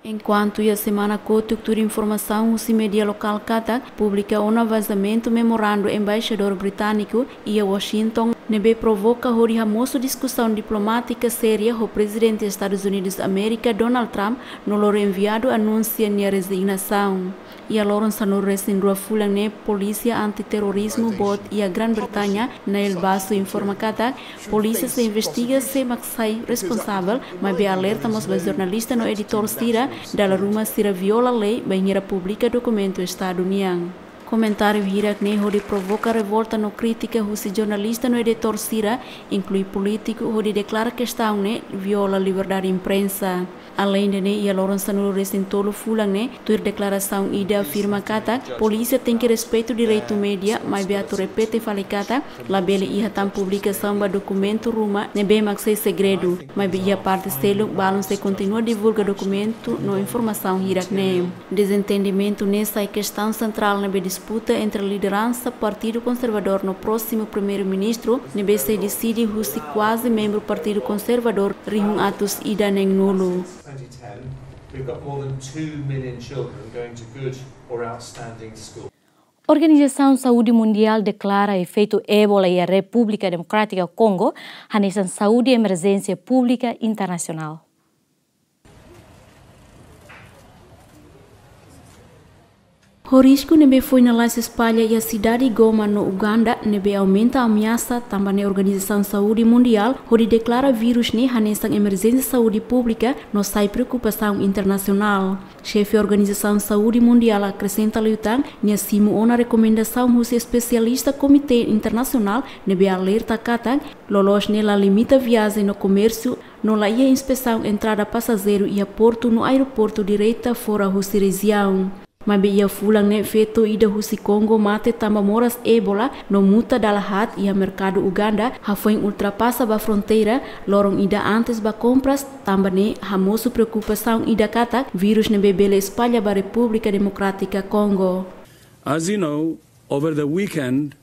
Enkuantu iha semana kotuk tuir informasaun husi média lokál katak publika ona vazamentu memorandu embaixadór britániku iha Washington, ne'ebé provoka hodi hamosu diskusaun diplomátika séria ho Prezidente Estadus Unidus Amérika, Donald Trump, no lori enviadu anunsia nia rezignasaun. Iha loron sanulu-resin-rua fulan ne'e, Polísia Anti-Terrorizmu boot iha Grã-Bretaña, Nile Basso, informa katak polísia sei investiga sé mak sai responsavel, maibé alerta mós ba jornalista no editór sira, dala ruma sira viola lei bainhira publika dokumentu Estadu nian. Komentáriu hirak-ne'e hodi provoka revolta no krítika husi jornalista no editór sira, inklui polítiku, hodi deklara kestaun ne'e viola liberdade imprensa. Aleinde ne'e, iha loron sanulu-resin-tolu fulan ne'e, tuir deklarasaun ida afirma katak polísia tenke respeitu direitu média, maibé atu repete fali katak labele iha tan publikasaun ba dokumentu ruma ne'ebé mak sei segredu, maibé iha parte seluk balun sei kontinua divulga dokumentu no informasaun hirak-ne'e. Dezentendimentu ne'e sai kestaun sentrál ne'ebé disputa entre lideransa Partidu Konservadór no prósimu Primeiru-Ministru, ne'ebé sei deside husi kuaze membru Partidu Konservadór rihun atus ida neen-nulu. We've got more than two million children going to good or outstanding school. Organizasaun Saúde Mundiál deklara efeitu Ebola iha Repúblika Demokrátika Kongo hanesan saúde emerjénsia públika internasionál. Ho risku ne'ebé foin lalais espalla iha sidade Goma no Uganda, ne'ebé aumenta ameasa, tanba ne'e Organizasaun Saúde Mundiál hodi deklara vírus ne'e hanesan emerjénsia saúde públika no sai preokupasaun internasionál. Xefe Organizasaun Saúde Mundiál akresenta liután nia simu ona rekomendasaun husi espesialista Komité Internasionál ne'ebé alerta katak loloos ne'e la limita viajen no komérsiu, no la iha inspesaun entrada pasajeiru iha portu no aeroportu direta fora husi rejiaun. Maibé iha fulan ne'e feto ida husi Kongo mate tanba moras Ebola no muta dala haat iha merkadu Uganda, hafoin ultrapasa ba fronteira loron ida antes ba kompras, tanba ne'e hamosu preokupasaun ida katak vírus ne'ebé bele espalla ba Repúblika Demokrátika Kongo. As you know, over the weekend,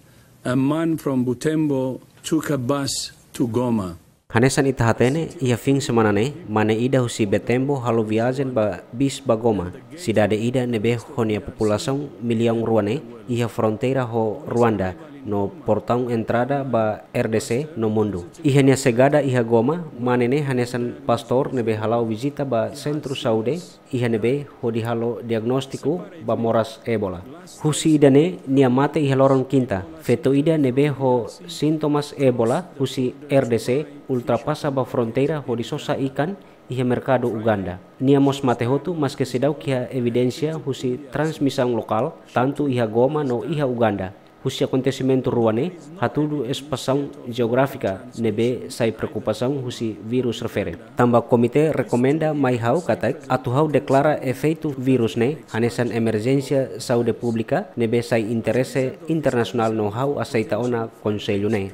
a man from Butembo took a bus to Goma. Hanesan ita hatene, iha fin semana ne'e, mane ida husi Butembo halo viajen ba bis ba Goma, sidade ida ne'ebé ho nia populasaun millaun rua ne'e, iha fronteira ho Ruanda, no portaun entrada ba R D C no mundu. Iha nia xegada iha Goma, mane ne'e hanesan pastór ne'ebé hala'o vizita ba sentru saúde, iha ne'ebé hodi halo diagnóstiku ba moras Ebola. Husi ida-ne'e nia mate iha loron kinta. Feto ida ne'ebé ho sintomas Ebola husi R D C ultrapasa ba fronteira hodi sosa ikan iha merkadu Uganda. Nia mós mate hotu maske seidauk iha evidénsia husi transmisaun lokál, tantu iha Goma no iha Uganda. Husi akontesimentu rua ne'e, hatudu espasaun jeográfika ne'ebé sai preokupasaun husi vírus refere. Tanba komité rekomenda mai ha'u katak atu ha'u deklara efeitu vírus ne'e hanesan emerjénsia saúde públika ne'ebé sai interese internasionál no ha'u aseita ona konsellu ne'e.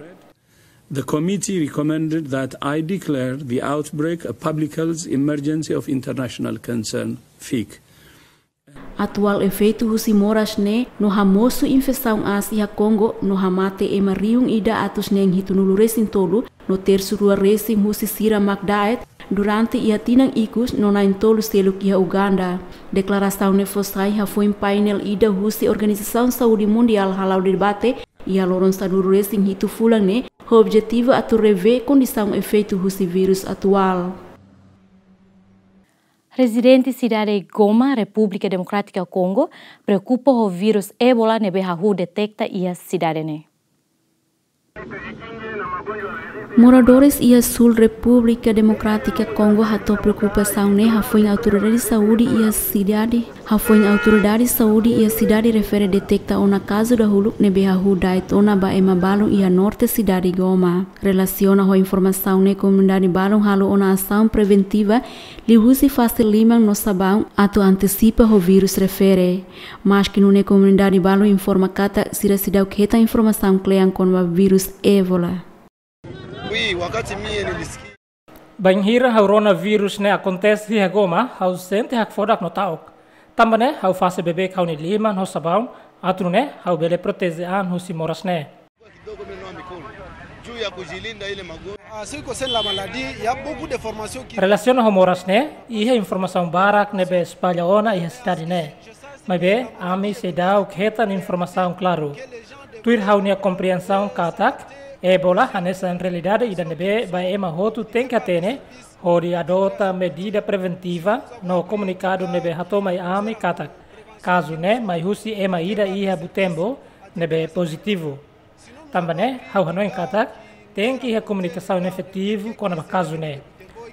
The committee recommended that I declare the outbreak a public health emergency of international concern, fic. Atuál efeitu husi moras ne'e no hamosu infesaun aas iha Kongo no hamate ema rihun ida atus neen hitunulu-resin-tolu no tersu rua resin husi sira mak da'et durante iha tinan ikus no na'in-tolu seluk iha Uganda. Deklarasaun ne'e fó sai hafoin painel ida husi Organizasaun Saúde Mundiál hala'o debate iha loron sanulu-resin-hitu fulan ne'e, ho objetivu atu revee kondisaun efeitu husi vírus atuál. Rezidente sidade Goma, Repúblika Demokrátika Kongo, preokupa ho vírus Ebola ne'ebé hahú deteta iha sidade ne'e. Moradores iha Súl Repúblika Demokrátika Kongo hato'o preokupasaun ne'e hafoin autoridade saúde iha sidade, hafoin autoridade saúde iha sidade refere deteta ona kazu dahuluk ne'ebé hahú da'et ona ba ema balun iha norte sidade Goma. Relasiona ho informasaun ne'e, komunidade balun halo ona asaun preventiva liuhusi fase liman no sabaun atu antesipa ho vírus refere. Maski nune'e, komunidade balun informa katak sira seidauk hetan informasaun kle'an kona-ba vírus Ebola. Wi, wakati mie nilisikia. Bainhira ha'u rona vírus ne'e akontese iha Goma, ha'u sente hakfodak no ta'uk. Tanba ne'e, ha'u fase beibeik ha'u-nia liman ho sabaun, atu nune'e ha'u bele proteje an husi moras ne'e. Relasiona ho moras ne'e, iha informasaun barak ne'ebé espalla ona iha sidade ne'e. Maibé, ami seidauk hetan informasaun klaru. Tuir ha'u-nia komprensaun katak, Ebola hanesan realidade ida ne'ebé ba ema hotu tenke hatene, hodi adota medida preventiva no komunikadu ne'ebé hato'o mai ami katak kazu ne'e mai husi ema ida iha Butembo ne'ebé pozitivu. Tanba ne'e, ha'u hanoin katak tenke iha komunikasaun efetivu kona-ba kazu ne'e,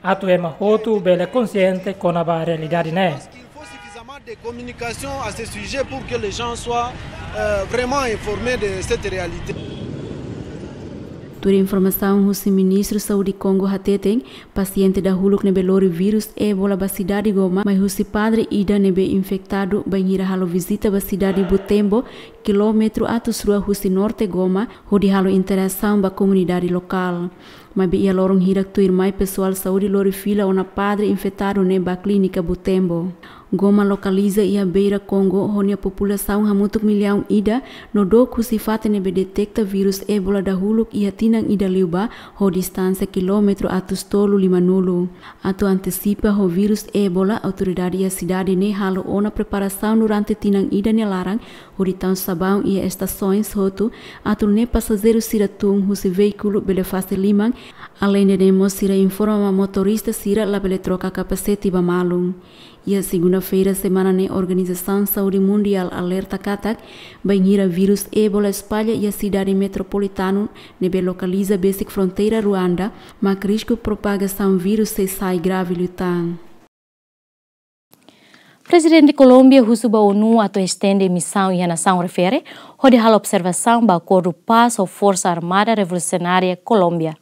atu ema hotu bele konsiente kona-ba realidade ne'e. De communication à ce sujet pour que les gens soient, euh, vraiment informés de cette réalité. Tuir informasaun husi Ministru Saúde Kongo hateten, pasiente dahuluk ne'ebé lori vírus Ebola ba sidade Goma mai husi padre ida ne'ebé infetadu bainhira halo vizita ba sidade Butembo, kilómetru atus rua husi norte Goma, hodi halo interasaun ba komunidade lokál. Maibé iha loron hirak tuirmai pesoál saúde lori fila ona padre infetadu ne'e ba klínika Butembo. Goma lokaliza iha beira Kongo, ho nia populasaun hamutuk millaun ida, no dook husi fatin ne'ebé deteta vírus Ebola dahuluk iha tinan ida liubá, ho distánsia kilómetru atus tolu limanulu. Atu antesipa ho vírus Ebola, autoridade iha sidade ne'e halo ona preparasaun durante tinan ida nia laran, hodi tau sabaun iha estasoens hotu, atu nune'e pasajeiru sira tun husi veíkulu bele fase liman, aleinde ne'e mós sira informa ba motorista sira labele troka kapasete ba malu. Iha segunda-feira semana ne'e, Organizasaun Saúde Mundiál alerta katak, bainhira vírus Ebola espalla iha sidade metropolitanu ne'ebé lokaliza besik fronteira Ruanda, mak risku propagasaun vírus sei sai grave liután. Prezidente Kolómbia husu ba ONU atu estende misaun iha nasaun refere, hodi halo observasaun ba akordu pás ho Forsa Armada Revolusionária Kolómbia.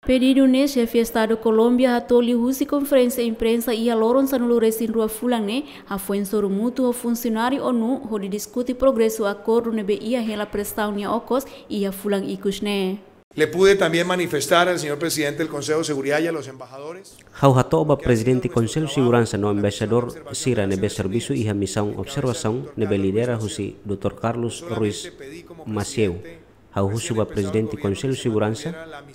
Pedidu ne'e xefe Estadu Kolómbia hato'o liuhusi konferénsia imprensa iha loron sanulu-resin-rua fulan ne'e, hafoin sorumutu ho funsionáriu ONU hodi diskute progresu akordu ne'ebé iha hela presaun nia okos iha fulan ikus ne'e. Le pude también manifestar al señor presidente del Consejo de Seguridad y a los embajadores. Ha'u hato'o ba Prezidente Konsellu Seguransa no embaixadór sira ne'ebé servisu iha misaun observasaun ne'ebé lidera husi doutór Carlos Ruiz Macieu. Ha'u husu ba Prezidente Konsellu Seguransa,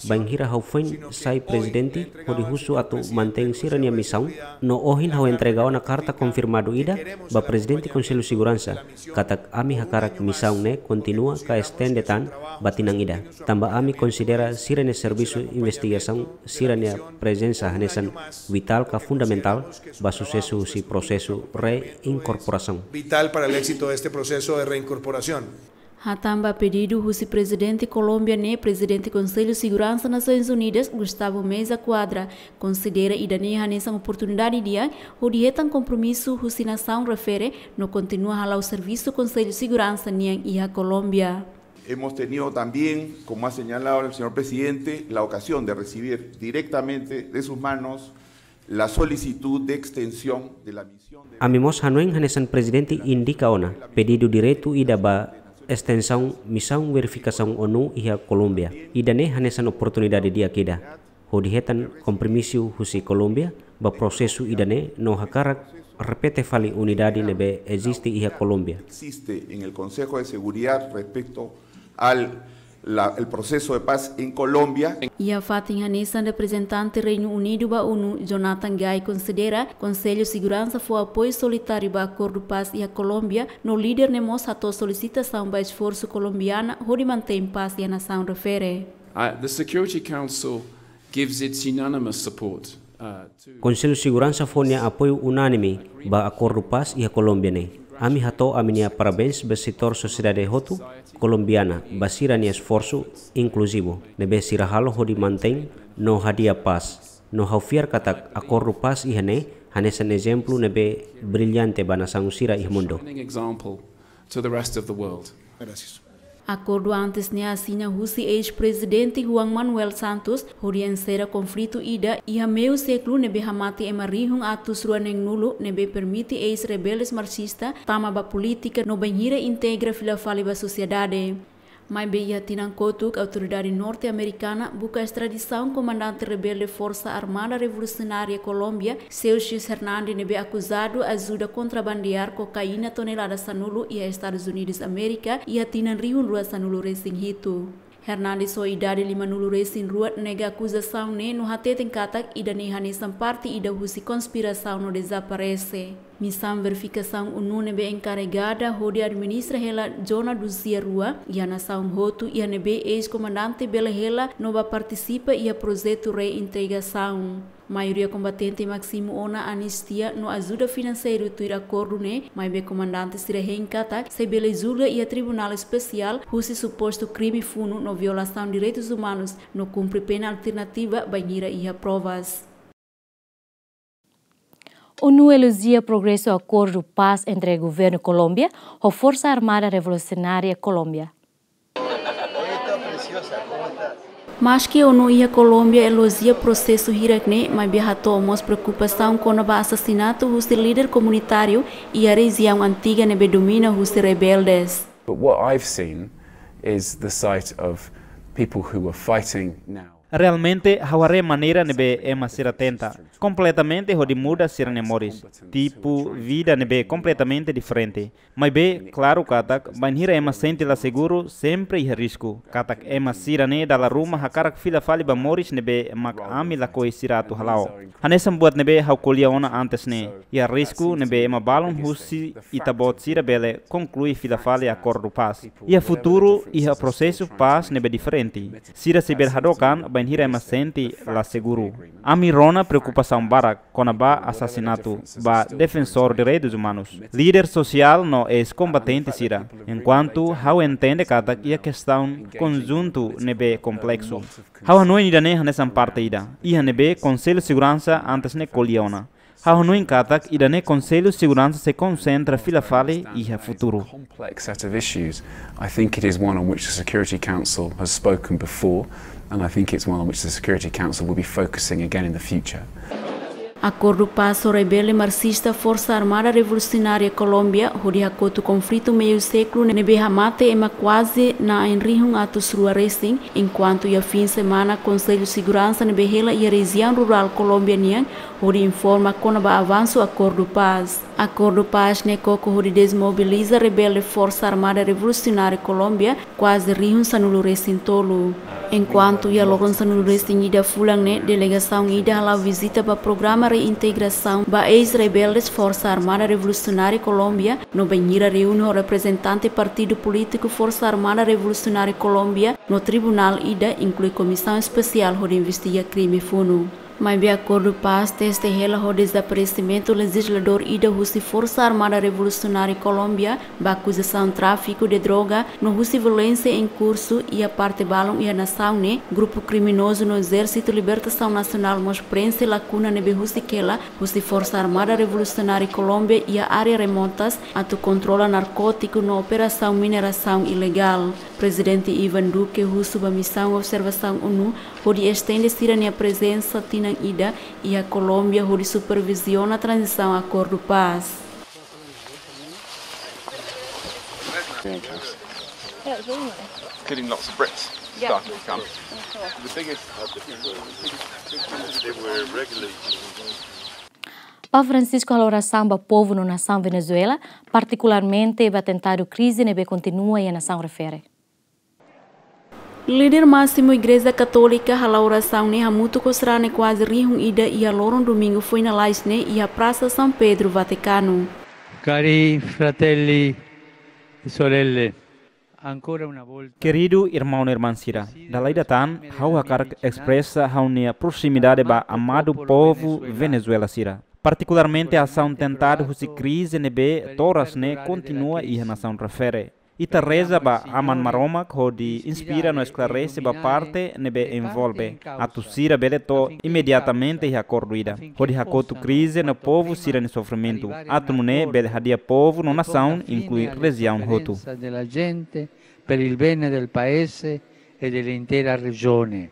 bainhira ha'u foin sai prezidente, hodi husu atu mantein sira-nia misaun, no ohin ha'u entrega ona karta konfirmadu ida ba Prezidente Konsellu Seguransa, katak ami hakarak misaun ne'e kontinua ka estende tan ba tinan ida. Tanba ami konsidera sira-nia servisu investigasaun, sira-nia prezensa hanesan vitál ka fundamentál ba susesu husi prosesu reinkorporasaun. Vital para el éxito de este proceso de reincorporación. Hatán ba pedidu husi Prezidente Kolómbia ne'e, Prezidente Konsellu Seguransa Nasoins Unidas, Gustavo Meza Quadra, konsidera ida-ne'e hanesan oportunidade di'ak hodi hetan kompromisu husi nasaun refere no kontinua hala'o servisu Konsellu Seguransa nian iha Kolómbia. Hemos tenido también, como ha señalado el señor presidente, la ocasión de recibir directamente de sus manos la solicitud de extensión de la misión de... Ami mós hanoin hanesan Prezidente indika ona, pedidu diretu ida ba estensaun misaun verifikasaun ONU iha Kolómbia. Ida-ne'e hanesan oportunidade di'ak ida hodi hetan kompromisu husi Kolómbia ba prosesu ida-ne'e no hakarak repete fali unidade ne'ebé eziste iha Kolómbia. Existe en el Consejo de Seguridad respecto al La, el proceso de paz en Colombia. Iha fatin hanesan, reprezentante Reinu Unidu ba ONU, Jonathan Guy, konsidera Konsellu Seguransa fó apoiu solitáriu ba akordu pás iha Kolómbia, no líder ne'e mós hato'o solisitasaun ba esforsu kolombiana hodi mantein pás iha nasaun refere. Uh, the Security Council gives its unanimous support, uh, to Konsellu Seguransa fó nia apoiu unánime ba akordu pás iha Kolómbia ne'e. Ami hato'o ami-nia parabéns ba setór sosiedade hotu kolombiana ba sira-nia esforsu inkluzivu ne'ebé sira halo hodi mantein no hadi'a pás. No ha'u fiar katak akordu pás iha ne'e hanesan ezemplu ne'ebé brillante ba nasaun sira iha mundu. Shining example to the rest of the world. Akordu antes ne'e asina husi eis-prezidente Juan Manuel Santos hodi enserra konflitu ida iha meiu sékulu ne'ebé hamate ema rihun atus rua neen-nulu, ne'ebé permite eis-rebeldes marxista tama ba polítika no bainhira integra fila fali ba sosiedade. Maibé iha tinan kotuk, autoridade norte-amerikana buka estradisaun komandante rebelde Forsa Armada Revolusionária Kolómbia, Celsius Hernande, ne'ebé akuzadu ajuda kontrabandear kokaina tonelada sanulu iha Estadus Unidus Amérika iha tinan rihun rua sanulu resin hitu. Hernande ho idade lima-nulu resin rua nega akuzasaun ne'e no hateten katak ida-ne'e hanesan parte ida husi konspirasaun no dezaparese. Misaun verifikasaun ONU ne'ebé enkarregada hodi administra hela zona duzia rua iha nasaun hotu, iha ne'ebé eis-komandante bele hela no bá partisipa iha projetu reintegrasaun. Maioria kombatente másimu ona anistia no ajuda finanseiru tuir akordu ne'e, maibé komandante sira hein katak sei bele julga iha tribunál espesiál husi supostu krime funu no violasaun direitus umanus no kumpre pena alternativa bainhira iha provas. ONU elojia progresu akordu pás entre governu Kolómbia ho Forsa Armada Revolusionária Kolómbia. Maski ONU iha Kolómbia elojia prosesu hirak ne'e, maibé hato'o mós preokupasaun kona-ba asasinatu husi líder komunitáriu iha rejiaun antiga ne'ebé domina husi rebeldes. But what I've seen is the sight of people who were fighting now. Realmente, ha'u haree maneira ne'ebé ema sira tenta kompletamente hodi muda sira-nia moris, tipu vida ne'ebé kompletamente diferente. Maibé, klaru katak, bainhira ema sente la seguru, sempre iha risku katak ema sira-ne'e dala ruma hakarak fila fali ba moris ne'ebé mak ami lakohi sira atu hala'o. Hanesan buat ne'ebé ha'u ko'alia ona antes ne'e, iha risku ne'ebé ema balun husi ita-boot sira bele konklui fila fali akordu pás. Iha futuru, iha prosesu pás ne'ebé diferente, sira sei bele hadook an bainhira ema sente la seguru. Ami rona preokupasaun barak kona-ba asasinatu ba defensór direitus umanus, líder sosiál no eis-kombatente sira, enkuantu ha'u entende katak iha kestaun konjuntu ne'ebé kompleksu. Ha'u hanoin ida-ne'e hanesan parte ida iha ne'ebé Konsellu Seguransa antes ne'e ko'alia ona. Ha'u hanoin katak ida-ne'e Konsellu Seguransa sei konsentra fila fali iha futuru. Complex set of issues. I think it is one on which the Security Council has spoken before, and I think it's one on which the Security Council will be focusing again in the future. Akordu pás ho rebelde marxista Forsa Armada Revolusionária Kolómbia hodi hakotu konflitu meiu sékulu ne'ebé hamate ema kuaze na'in rihun atus rua resin, enkuantu iha fin semana Konsellu Seguransa ne'ebé hela iha rejiaun rurál Kolómbia nian hodi informa kona-ba avansu akordu pás. Akordu pás ne'e koko hodi dezmobiliza rebelde Forsa Armada Revolusionária Kolómbia kuaze rihun sanulu resin tolu. Enkuantu iha loron sanulu resin ida fulan ne'e, delegasaun ida hala'o vizita ba programa reintegrasaun ba eis-rebeldes Forsa Armada Revolusionária Kolómbia, no bainhira reúne ho reprezentante partidu polítiku Forsa Armada Revolusionária Kolómbia, no tribunál ida, inklui Komisaun Espesiál hodi investiga krime funu. Maibé akordu pás teste hela ho dezaparesimentu lejizladór ida husi Forsa Armada Revolusionária Kolómbia, ba akuzasaun tráfiku de droga, no husi violénsia em kursu iha parte balun iha nasaun ne'e, grupu kriminozu no Ezérsitu Libertasaun Nasionál mós prenxe lakuna ne'ebé husik hela husi Forsa Armada Revolusionária Kolómbia iha área remotas atu kontrola narkótiku no operasaun minerasaun ilegál. Prezidente Iván Duque husu ba misaun observasaun ONU hodi estende sira-nia prezensa tinan ida iha Kolómbia hodi superviziona tranzisaun akordu pás. Getting lots of Brits starting to come. The biggest. Papa Francisco halo orasaun ba povu no nasaun Venezuela, partikularmente ba atentadu krize ne'ebé kontinua iha nasaun refere. Líder másimu Igreja Katólika hala'o orasaun ne'e hamutuk ho sarani kuaze rihun ida iha loron domingu foin lalais ne'e iha Prasa São Pedro, Vatikanu. Cari fratelli e sorelle, ancora una volta. Keridu irmaun no irmán sira, dala ida tan, ha'u hakarak espresa ha'u-nia proximidade ba amadu povu Venezuela sira. Partikularmente asaun tentadu husi krize ne'ebé to'o oras ne'e kontinua iha nasaun refere. Ita reza ba Aman Maromak hodi inspira no esklarese ba parte ne'ebé envolve, atu sira bele to'o imediatamente iha akordu ida, hodi hakotu krize no povu sira-nia sofrimentu, atu nune'e bele hadi'a povu no nasaun, inklui rejiaun hotu. Della gente, per il bene del paese e dell'intera regione.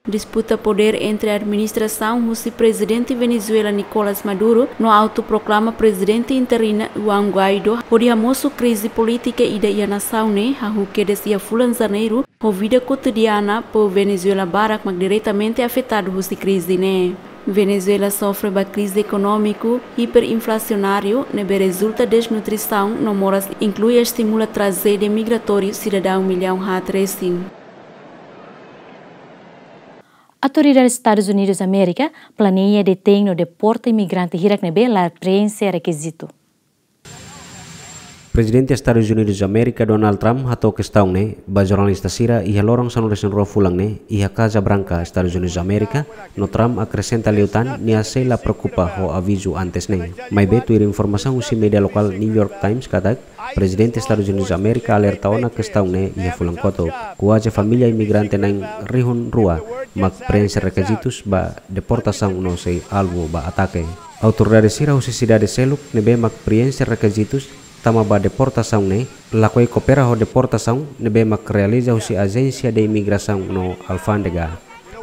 Disputa podér entre administrasaun husi Prezidente Venezuela Nicolas Maduro no autoproklama prezidente interina Juan Guaidó hodi hamosu krize polítika ida iha nasaun ne'e hahú kedas iha fulan Janeiru, ho vida kotidiana povu Venezuela barak mak diretamente afetadu husi krize ne'e. Venezuela sofre ba krize ekonómiku hiperinflasionáriu ne'ebé rezulta desnutrisaun no moras, inklui estimula trajédia migratóriu sidadaun millaun haat resin. Autoridade Estadus Unidus Amérika planeia detein no deporta imigrante hirak ne'ebé la preenxe rekizitu. Prezidente Estadus Unidus Amérika, Donald Trump, hato'o kestaun ne'e ba jornalista sira iha loron sanulu-resin-rua fulan ne'e iha Casa Branca, Estadus Unidus Amérika, no Trump akresenta liután nia sei la preokupa ho avizu antes ne'e. Maibé tuir informasaun husi média lokál New York Times katak, Prezidente Estadus Unidus Amérika alerta ona kestaun ne'e iha fulan kotuk. Kuaze família imigrante na'in rihun rua mak preenxe rekizitus ba deportasaun no sei alvu ba atake. Autoridade sira husi sidade seluk ne'ebé mak preenxe rekizitus tama ba deportasaun ne'e, lakohi koopera ho deportasaun ne'ebé mak realiza husi Ajénsia de Imigrasaun no Alfándega.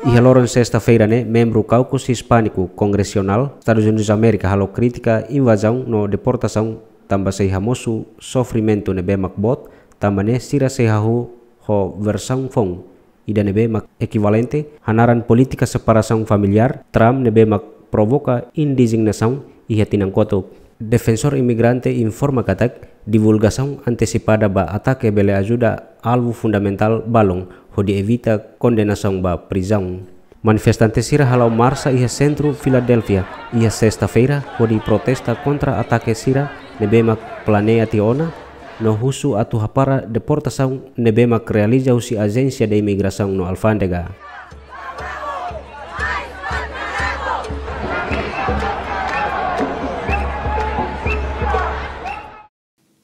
Iha loron sesta-feira ne'e, membru Kaukus Hispániku Kongresionál Estadus Unidus Amérika halo krítika invazaun no deportasaun tanba sei hamosu sofrimentu ne'ebé mak boot, tanba ne'e sira sei hahú ho versaun foun ida ne'ebé mak ekivalente, hanaran polítika separasaun familiár Trump ne'ebé mak provoka indizignasaun iha tinan kotuk. Defensór imigrante informa katak divulgasaun antesipada ba atake bele ajuda alvu fundamentál balun hodi evita kondenasaun ba prizaun. Manifestante sira hala'o marsa iha sentru Filadélfia iha sesta-feira hodi protesta kontra atake sira ne'ebé mak planeia tiha ona, no husu atu hapara deportasaun ne'ebé mak realiza husi Ajénsia de Imigrasaun no Alfándega.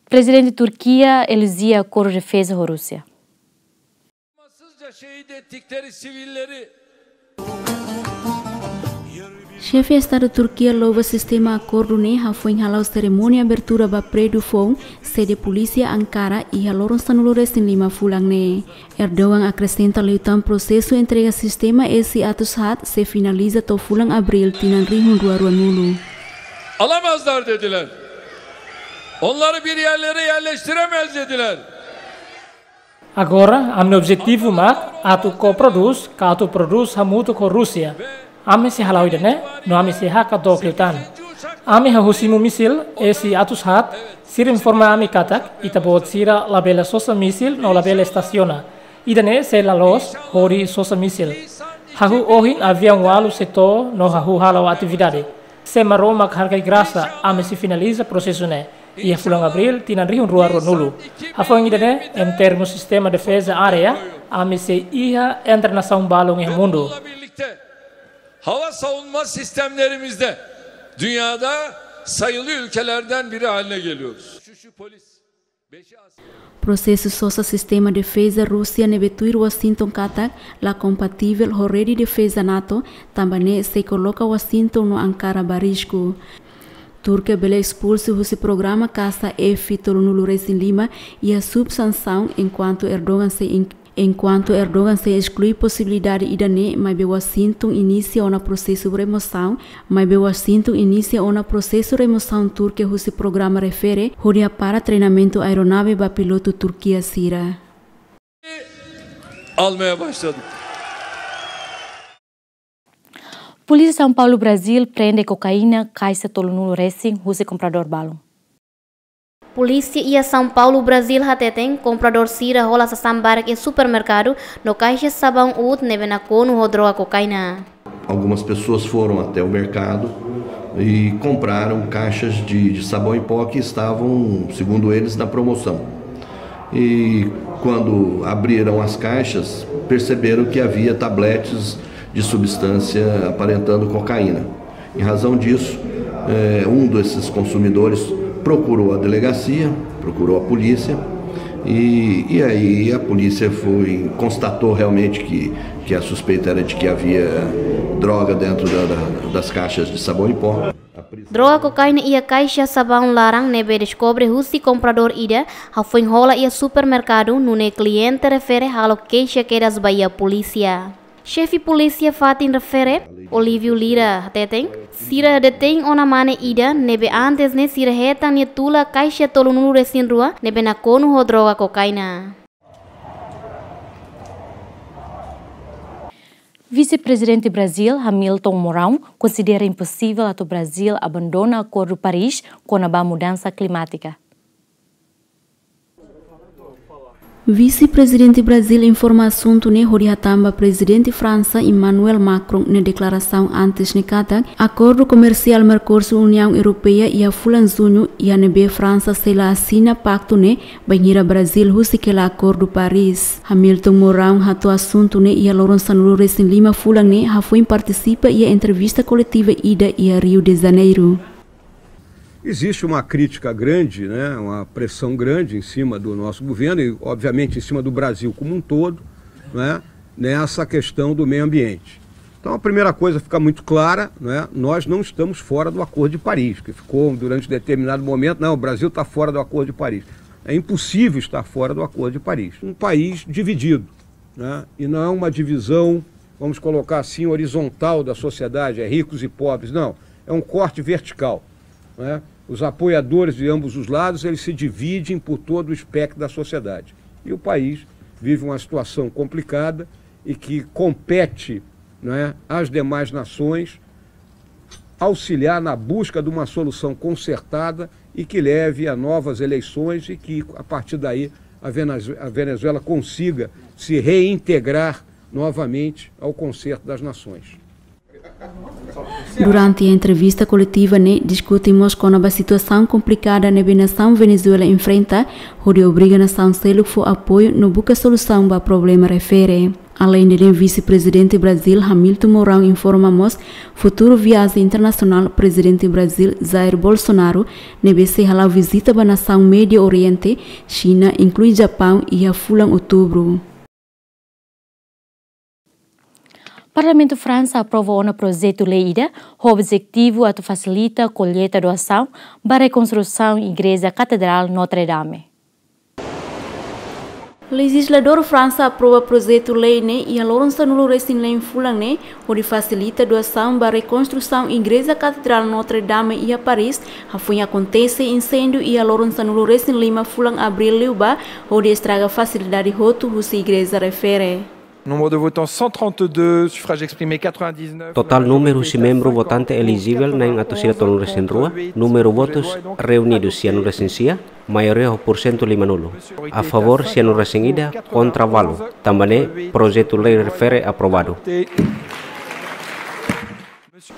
Prezidente Turkia elojia akordu defeza ho Rúsia. Acımasızca şehit ettikleri sivilleri. Xefe Estadu Turkia louva sistema akordu ne'e hafoin hala'o serimónia abertura ba prédiu foun sede polísia Ankara iha loron sanulu-resin-lima fulan ne'e. Erdogan akresenta liután prosesu entrega sistema S atus haat sei finaliza to'o fulan Abríl tinan rihun rua ruanulu. Alamazlar dediler. Onları bir yerlere yerleştiremez dediler. Agora, ami-nia objetivu mak atu koprodús, ka atu prodús hamutuk ho Rúsia. Ami sei hala'o ida-ne'e, no ami sei hakat dook liután. Ami hahú simu mísil S atus haat, sira informa ami katak ita-boot sira labele sosa mísil no labele estasiona. Ida-ne'e sei la loos hodi sosa mísil. Hahú ohin aviaun ualu sei to'o no hahú hala'o atividade. Se Maromak hargai grasa, ami sei finaliza prosesu ne'e iha fulan Abríl tinan rihun rua ruanulu. Hafoin ida-ne'e, em termu sistema defeza área, ami sei iha entre nasaun balun iha mundu. Hava savunma sistemlerimizde dünyada sayılı ülkelerden biri haline geliyoruz. Prosesu sosa sistema defeza Rúsia ne'ebé tuir Washington katak la kompativel ho rede defeza NATO, tanba ne'e sei koloka Washington no Ankara ba risku. Turkia bele espulsu husi programa kasa F tolunulu-resin-lima iha sub-sansaun enkuantu Erdogan sei en-, enkuantu Erdogan sei esklui posibilidade ida-ne'e, maibé Washington inisia ona prosesu remosaun, maibé Washington inisia ona prosesu remosaun Turkia husi programa refere hodi hapara treinamentu aeronave ba pilotu Turkia sira. Almaya başladık. Polísia São Paulo, Brazíl, prende kokaína kaixa tolunulu-resin husi kompradór balun. Polísia iha São Paulo, Brazíl hateten, kompradór sira hola sasán barak iha supermerkadu no kaixa sabaun uut ne'ebé nakonu ho droga kokaina. Algumas pessoas foram até o mercado e compraram caixas de, de sabão em pó que estavam, segundo eles, na promoção. E quando abriram as caixas, perceberam que havia tabletes de substância aparentando cocaína. Em razão disso, eh, um desses consumidores procurou a delegacia, procurou a polícia, e, e aí a polícia foi, constatou realmente que, que a suspeita era de que havia droga dentro da, da, das caixas de sabão em pó. Droga kokaina iha kaixa sabaun laran ne'ebé deskobre husi kompradór ida hafoin hola iha supermerkadu, nune'e kliente refere halo keixa kedas ba iha polísia. Xefe polísia fatin refere, Olívio Lira, hateten, sira detein ona mane ida ne'ebé antes ne'e sira hetan nia tula kaixa tolunulu-resin-rua ne'ebé nakonu ho droga kokaina. Vise-Prezidente Brazil, Hamilton Mourão, konsidera imposivel atu Brazil abandona Akordu Paris kona-ba mudansa klimátika. Vise-Prezidente Brazil informa asuntu ne'e hodi hatán ba Prezidente Fransa Emmanuel Macron nia deklarasaun antes ne'e katak akordu komersiál Mercosul-Uniaun Europeia iha fulan Juñu, iha ne'ebé Fransa sei la asina paktu ne'e, bainhira Brazil husik hela Akordu Paris. Hamilton Mourão hato'o asuntu ne'e iha loron sanulu-resin-lima fulan ne'e hafoin partisipa iha entrevista koletiva ida iha Rio de Janeiro. Existe uma crítica grande, né, uma pressão grande em cima do nosso governo e, obviamente, em cima do Brasil como um todo, né, nessa questão do meio ambiente. Então, a primeira coisa fica muito clara, né, nós não estamos fora do Acordo de Paris, que ficou durante determinado momento, não, o Brasil está fora do Acordo de Paris. É impossível estar fora do Acordo de Paris. Um país dividido, né, e não é uma divisão, vamos colocar assim, horizontal da sociedade, é ricos e pobres, não. É um corte vertical, né? Os apoiadores de ambos os lados, eles se dividem por todo o espectro da sociedade. E o país vive uma situação complicada e que compete, né, às demais nações auxiliar na busca de uma solução concertada e que leve a novas eleições e que, a partir daí, a Venez-, a Venezuela consiga se reintegrar novamente ao concerto das nações. Durante entrevista koletiva ne'e diskute mós kona-ba situasaun komplikada ne'ebé nasaun Venezuela enfrenta, hodi obriga nasaun seluk fó apoiu no buka solusaun ba problema refere. Aleinde ne'e, Vise-Prezidente Brazil Hamilton Mourão informa mós futuru viajen internasionál Prezidente Brazil Jair Bolsonaro ne'ebé sei hala'o vizita ba nasaun Médiu Oriente, Xina, inklui Japaun, iha fulan Outubru. Parlamentu Fransa aprova ona projetu lei ida ho objetivu atu fasilita kolleita doasaun ba rekonstrusaun Igreja Katedrál Notre Dame. Lejizladór Fransa aprova projetu lei ne'e iha loron sanulu-resin-neen fulan ne'e, hodi fasilita doasaun ba rekonstrusaun Igreja Katedrál Notre Dame iha Paris, hafoin akontese inséndiu iha loron sanulu-resin-lima fulan Abríl liubá, hodi estraga fasilidade hotu husi igreja refere. Nombre de votants, cent trente-deux, suffrages exprimés, quatre-vingt-dix-neuf. Totál númeru husi membru votante elijivel na'in atus ida tolunulu-resin-rua, númeru votus reunidu sianulu-resin-sia, maioria ho porsentu limanulu. A favór sianulu-resin-ida, kontra ualu. Tanba ne'e, projetu lei refere aprovadu.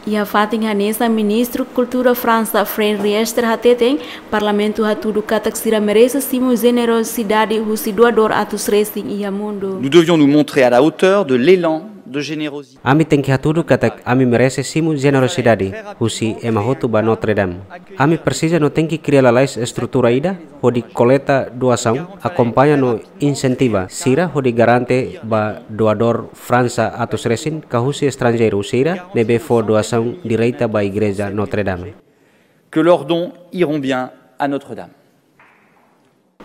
Iha fatin hanesan, Ministru Kultura Fransa, Fred Riester, hateten, Parlamentu hatudu katak sira merese simu jenerosidade husi doadór atus resin iha mundu. Nous devions nous montrer à la hauteur de l'élan de générosité. Ami tenke hatudu katak ami merese simu jenerosidade husi ema hotu ba Notre Dame. Ami presiza no tenke kria lalais estrutura ida hodi kolleita doasaun, akompaña no insentiva sira hodi garante ba doadór Fransa atus resin ka husi estranjeiru sira ne'ebé fó doasaun direta ba Igreja Notre Dame. Que leurs dons iront bien à Notre-Dame.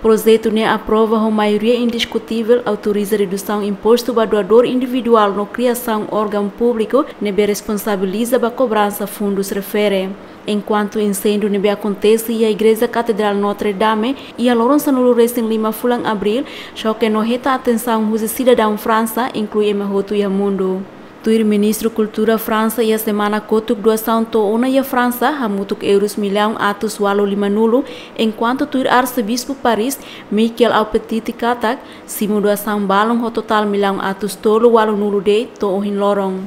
Projetu ne'e aprova ho maioria indiskutivel, autoriza redusaun impostu ba doadór individuál no kriasaun órgaun públiku ne'ebé responsabiliza ba kobransa fundus refere. Enkuantu inséndiu ne'ebé akontese iha Igreja Katedrál Notre Dame iha loron sanulu-resin-lima fulan Abríl, xoke no hetan atensaun husi sidadaun Fransa, inklui ema hotu iha mundu. Tuir Ministru Kultura Fransa, iha semana kotuk doasaun to'o ona iha Fransa hamutuk euros millaun atus ualu lima-nulu, enkuantu tuir Arsebispu Paris, Michael Aupetite katak, simu doasaun balun ho totál millaun atus tolu ualu-nulu de'it to'o ohin loron.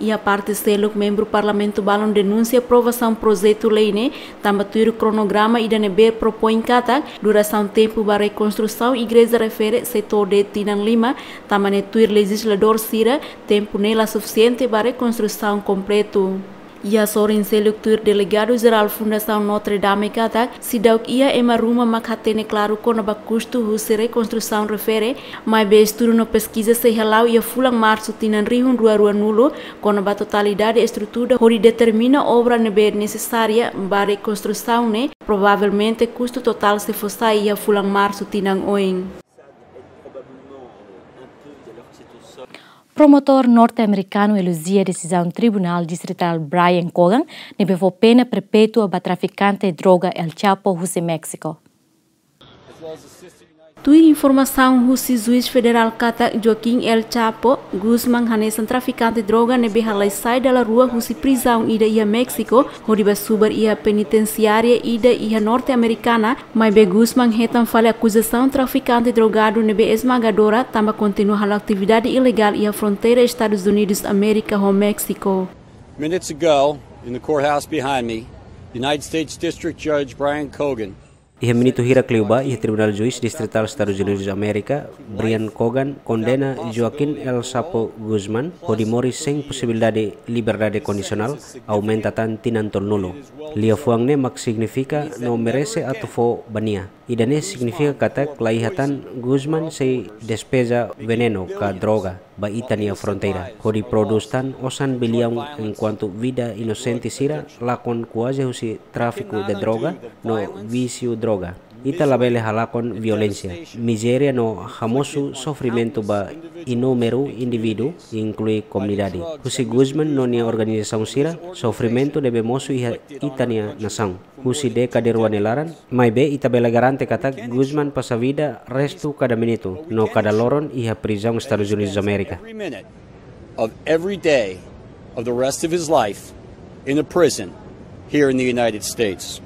Iha parte seluk, membru Parlamentu balun denunsia aprovasaun projetu lei ne'e, tanba tuir kronograma ida ne'ebé propoin katak, durasaun tempu ba rekonstrusaun igreja refere sei to'o de'it tinan lima, tanba ne'e tuir lejizladór sira, tempu ne'e la sufisiente ba rekonstrusaun kompletu. Iha sorin seluk, tuir Delegadu Jerál Fundasaun Notre Dame katak, seidauk iha ema ruma mak hatene klaru kona-ba kustu husi rekonstrusaun refere, maibé estudu no peskiza sei hala'o iha fulan Marsu tinan rihun rua rua-nulu, kona-ba totalidade estrutura hodi determina obra ne'ebé nesesária ba rekonstrusaun ne'e, provavelmente kustu totál sei fó sai iha fulan Marsu tinan oin. Promotór norte-amerikanu elojia desizaun Tribunál Distritál Brian Cogan, ne'ebé fó pena perpétua ba trafikante droga El Chapo husi Méxiku. Tuir informasaun husi juís federál katak Joaquín El Chapo Guzmán hanesan trafikante droga ne'ebé halai sai dala rua husi prizaun ida iha Méxiku, hodi bá subar iha penitensiária ida iha Norte Amerikana, maibé Guzmán hetan fali akuzasaun trafikante drogadu ne'ebé esmagadora, tanba kontinua halo atividade ilegál iha fronteira Estadus Unidus Amérika ho Méxiku. Minutes ago, in the courthouse behind me, United States District Judge Brian Cogan. Iha minutu hirak liubá, iha Tribunál Juís Distritál Estadus Unidus Amérika, Brian Cogan, kondena Joaquín El Chapo Guzmán hodi moris sein posibilidade liberdade kondisionál, aumenta tan tinan tolunulu. Liafuan ne'e mak signifika no merese atu fó ba nia. Ida-ne'e signifika katak laiha tan Guzmán sei despeja venenu ka droga ba ita-nia fronteira, hodi prodús tan osan biliaun, enkuantu vida inosente sira lakon kuaze husi tráfiku de droga no vísiu droga. Ita labele halakon violénsia, mizéria no hamosu sofrimentu ba inúmeru indivíduu, inklui komunidade. Husi Guzmán no nia organizasaun sira, sofrimentu ne'ebé mosu iha ita-nia nasaun husi dékada rua nia laran, maibé ita bele garante katak Guzmán pasa vida restu kada minutu no kada loron iha prizaun Estadus Unidus Amérika. Every minute of every day of the rest of his life in a prison here in the United States.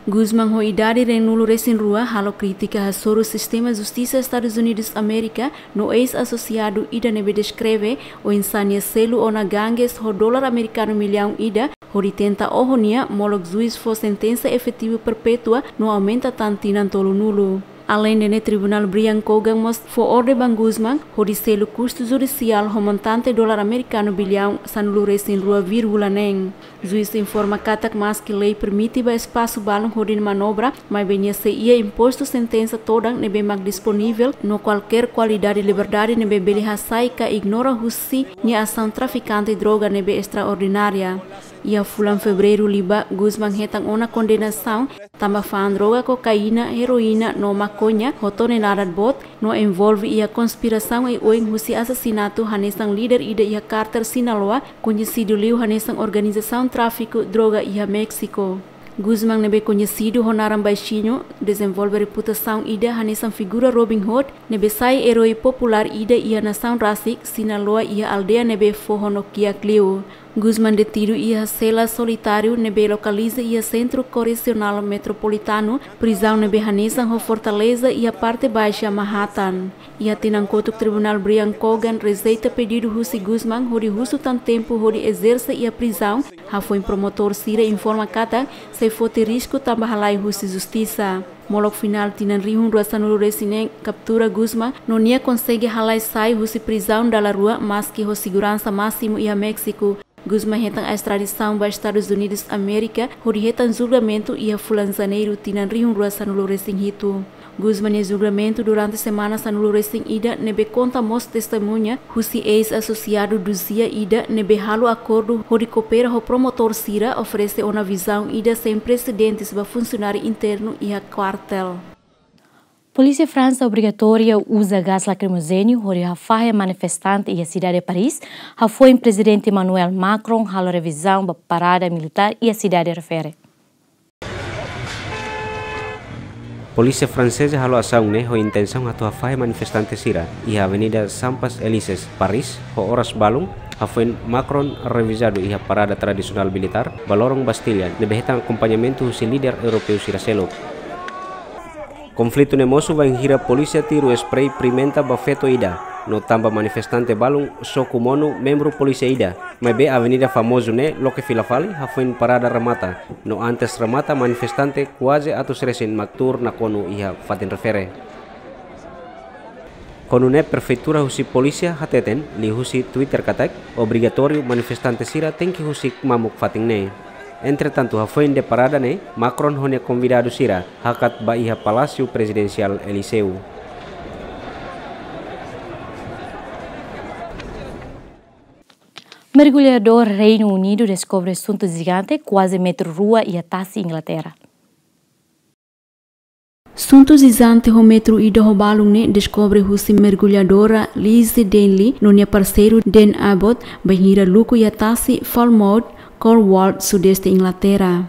Guzmán ho idade ruanulu-resin-rua halo krítika hasoru sistema justisa Estadus Unidus Amérika no eis-asosiadu ida ne'ebé deskreve oinsá nia selu ona gangues ho dolar amerikanu millaun ida, hodi tenta oho nia, molok juís fó sentensa efetivu perpétua no aumenta tan tinan tolunulu. Aleinde ne'e, Tribunál Brian Cogan mós fó orden ba Guzmán hodi selu kustu judisiál ho montante dolar amerikanu billaun sanulu-resin-rua vírgula neen. Juís informa katak maski lei permite ba espasu balun hodi manobra, maibé nia sei iha impostu sentensa todan ne'ebé mak disponivel no kualkér kualidade liberdade ne'ebé bele hasai ka ignora husi nia asaun trafikante droga ne'ebé estraordinária. Iha fulan Fevereiru liubá, Guzmán hetan ona kondenasaun tanba fa'an droga kokaína, heroína no makoña ho tonelada boot, no envolve iha konspirasaun oioin husi asasinatu hanesan líder ida iha kártel Sinaloa, koñesidu liu hanesan organizasaun tráfiku droga iha Méxiku. Guzmán ne'ebé koñesidu ho naran baixinhu, dezenvolve reputasaun ida hanesan figura Robin Hood, ne'ebé sai eroi populár ida iha nasaun rasik Sinaloa iha aldeia ne'ebé foho no kiak liu. Guzmán detidu iha sela solitáriu ne'ebé lokaliza iha Sentru Korresionál Metropolitanu, prizaun ne'ebé hanesan ho fortaleza iha parte baixa Manhattan. Iha tinan kotuk, Tribunál Brian Cogan rejeita pedidu husi Guzmán hodi husu tan tempu hodi ezerse iha prizaun, hafoin promotór sira informa katak sei foti risku tanba halai husi justisa. Molok finál tinan rihun rua sanulu-resin-neen kaptura Guzmán, no nia konsege halai sai husi prizaun dala rua maski ho seguransa másimu iha Méxiku. Guzmán hetan estradisaun ba Estadus Unidus Amérika hodi hetan julgamentu iha fulan Janeiru tinan rihun rua sanulu-resin-hitu. Guzmán nia julgamentu durante semana sanulu-resin-ida ne'ebé konta mós testemuña husi eis-asosiadu duzia ida ne'ebé halo akordu hodi koopera ho promotór sira, oferese ona vizaun ida sein presedentes ba funsionáriu internu iha kuartél. Polísia Fransa obrigatória uza gás lakrimojéniu hodi hafahe manifestante iha sidade Paris, hafoin Prezidente Emmanuel Macron halo revizaun ba parada militár iha sidade refere. Polísia franseza halo asaun ne'e ho intensaun atu hafahe manifestante sira iha Avenida Champs-Élysées, Paris, ho oras balun, hafoin Macron revizadu iha parada tradisionál militár ba lorong Bastilla, ne'ebé hetan akompañamentu husi líder europeu sira seluk. Konflitu ne'e mosu bainhira polísia tiru sprei pimenta ba feto ida, no tanba manifestante balun soku monu membru polísia ida, maibé avenida famozu ne'e loke fila fali hafoin parada remata, no antes remata manifestante kuaze atus resin mak tuur nakonu iha fatin refere. Kona-ba ne'e prefeitura husi polísia hateten liuhusi Twitter katak obrigatóriu manifestante sira tenke husik mamuk fatin ne'e. Entretantu, hafoin de parada ne'e, Macron ho nia konvidadu sira hakat ba iha Palásiu Prezidensiál Eliseu. Mergulladór Reinu Unidu deskobre suntu jigante kuaze metru rua iha tasi Inglaterra. Suntu jigante ho metru ida ho balun ne'e deskobre husi mergulladora Lizzie Denley no nia parseiru Dan Abbott bainhira luku iha tasi Falmouth, Cornwall, sudeste Inglaterra.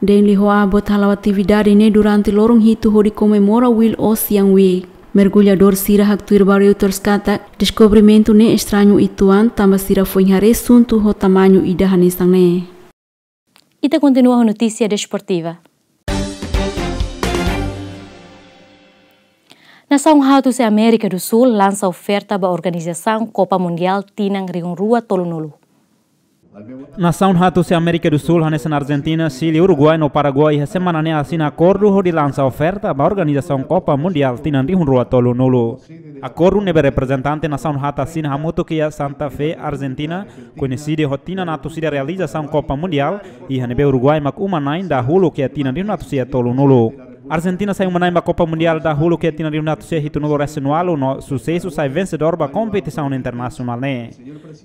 Denley ho Abbott hala'o atividade ne'e durante loron hitu hodi komemora World Ocean Week. Mergulladór sira haktuir ba Reuters katak deskobrimentu ne'e estrañu uitoan tanba sira foin haree suntu ho tamañu ida hanesan ne'e. Ita kontinua ho notísia desportiva. Nasaun haat husi Amérika do Sul lansa oferta ba organizasaun Kopa Mundiál tinan rihun rua tolunulu. Nasaun haat husi Amérika do Sul hanesan Arjentina, Xile, Uruguai no Paraguai iha semana ne'e asina akordu hodi lansa oferta ba organizasaun Kopa Mundiál tinan rihun rua tolunulu. Akordu ne'ebé reprezentante nasaun haat asina hamutuk iha Santa Fe, Arjentina, koñesidu ho tinan atus ida realizasaun Kopa Mundiál, iha ne'ebé Uruguai mak uma-na'in dahuluk iha tinan rihun atus ida tolunulu. Arjentina sai uma-na'in ba Kopa Mundiál dahuluk iha tinan rihun atus ida hitunulu resin ualu no susesu sai vensedór ba kompetisaun internasionál ne'e.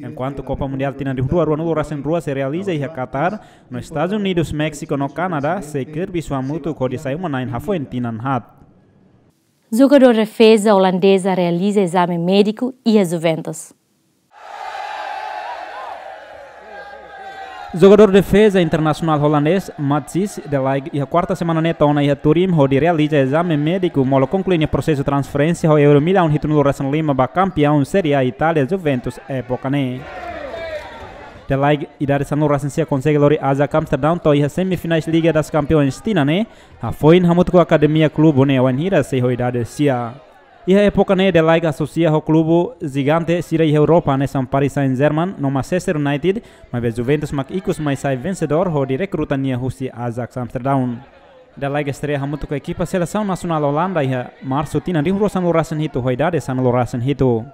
Enkuantu Kopa Mundiál tinan rihun rua ruanulu resin rua sei realiza iha Qatar, no Estadus Unidus, Méxiku no Kanadá sei kerbis hamutuk hodi sai uma-na'in hafoin tinan haat. Jogadór defeza olandeza realiza ezame médiku iha Juventus. Jogadór defeza internasionál olandés, Matthijs de Ligt, iha kuarta semana ne'e to'o ona iha Turin hodi realiza ezame médiku molok konklui nia prosesu transferénsia ho euro millaun hitunulu resin lima ba kampiaun Série A Itália, Juventus, époka ne'e. De Ligt, idade sanulu resin sia, konsege lori Ajax Amsterdam to'o iha semifinais Liga das Campeões tinan ne'e, hafoin hamutuk ho akademia klube ne'e wainhira sei ho idade sia. Iha époka ne'e De Ligt asosia ho klube jigante sira iha Europa hanesan Paris Saint-Germain no Manchester United, maibé Juventus mak ikus mai sai vensedór hodi rekruta nia husi Ajax Amsterdam. De Ligt estreia hamutuk ho ekipa selesaun nasionál Olanda iha Marsu tinan rihun rua sanulu resin hitu ho idade sanulu resin hitu.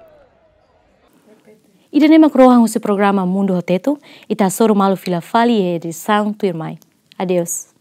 Ida-ne'e mak rohan husi programa Mundu ho Tetu, ita hasoru malu fila fali iha edisaun tuirmai. Adeus.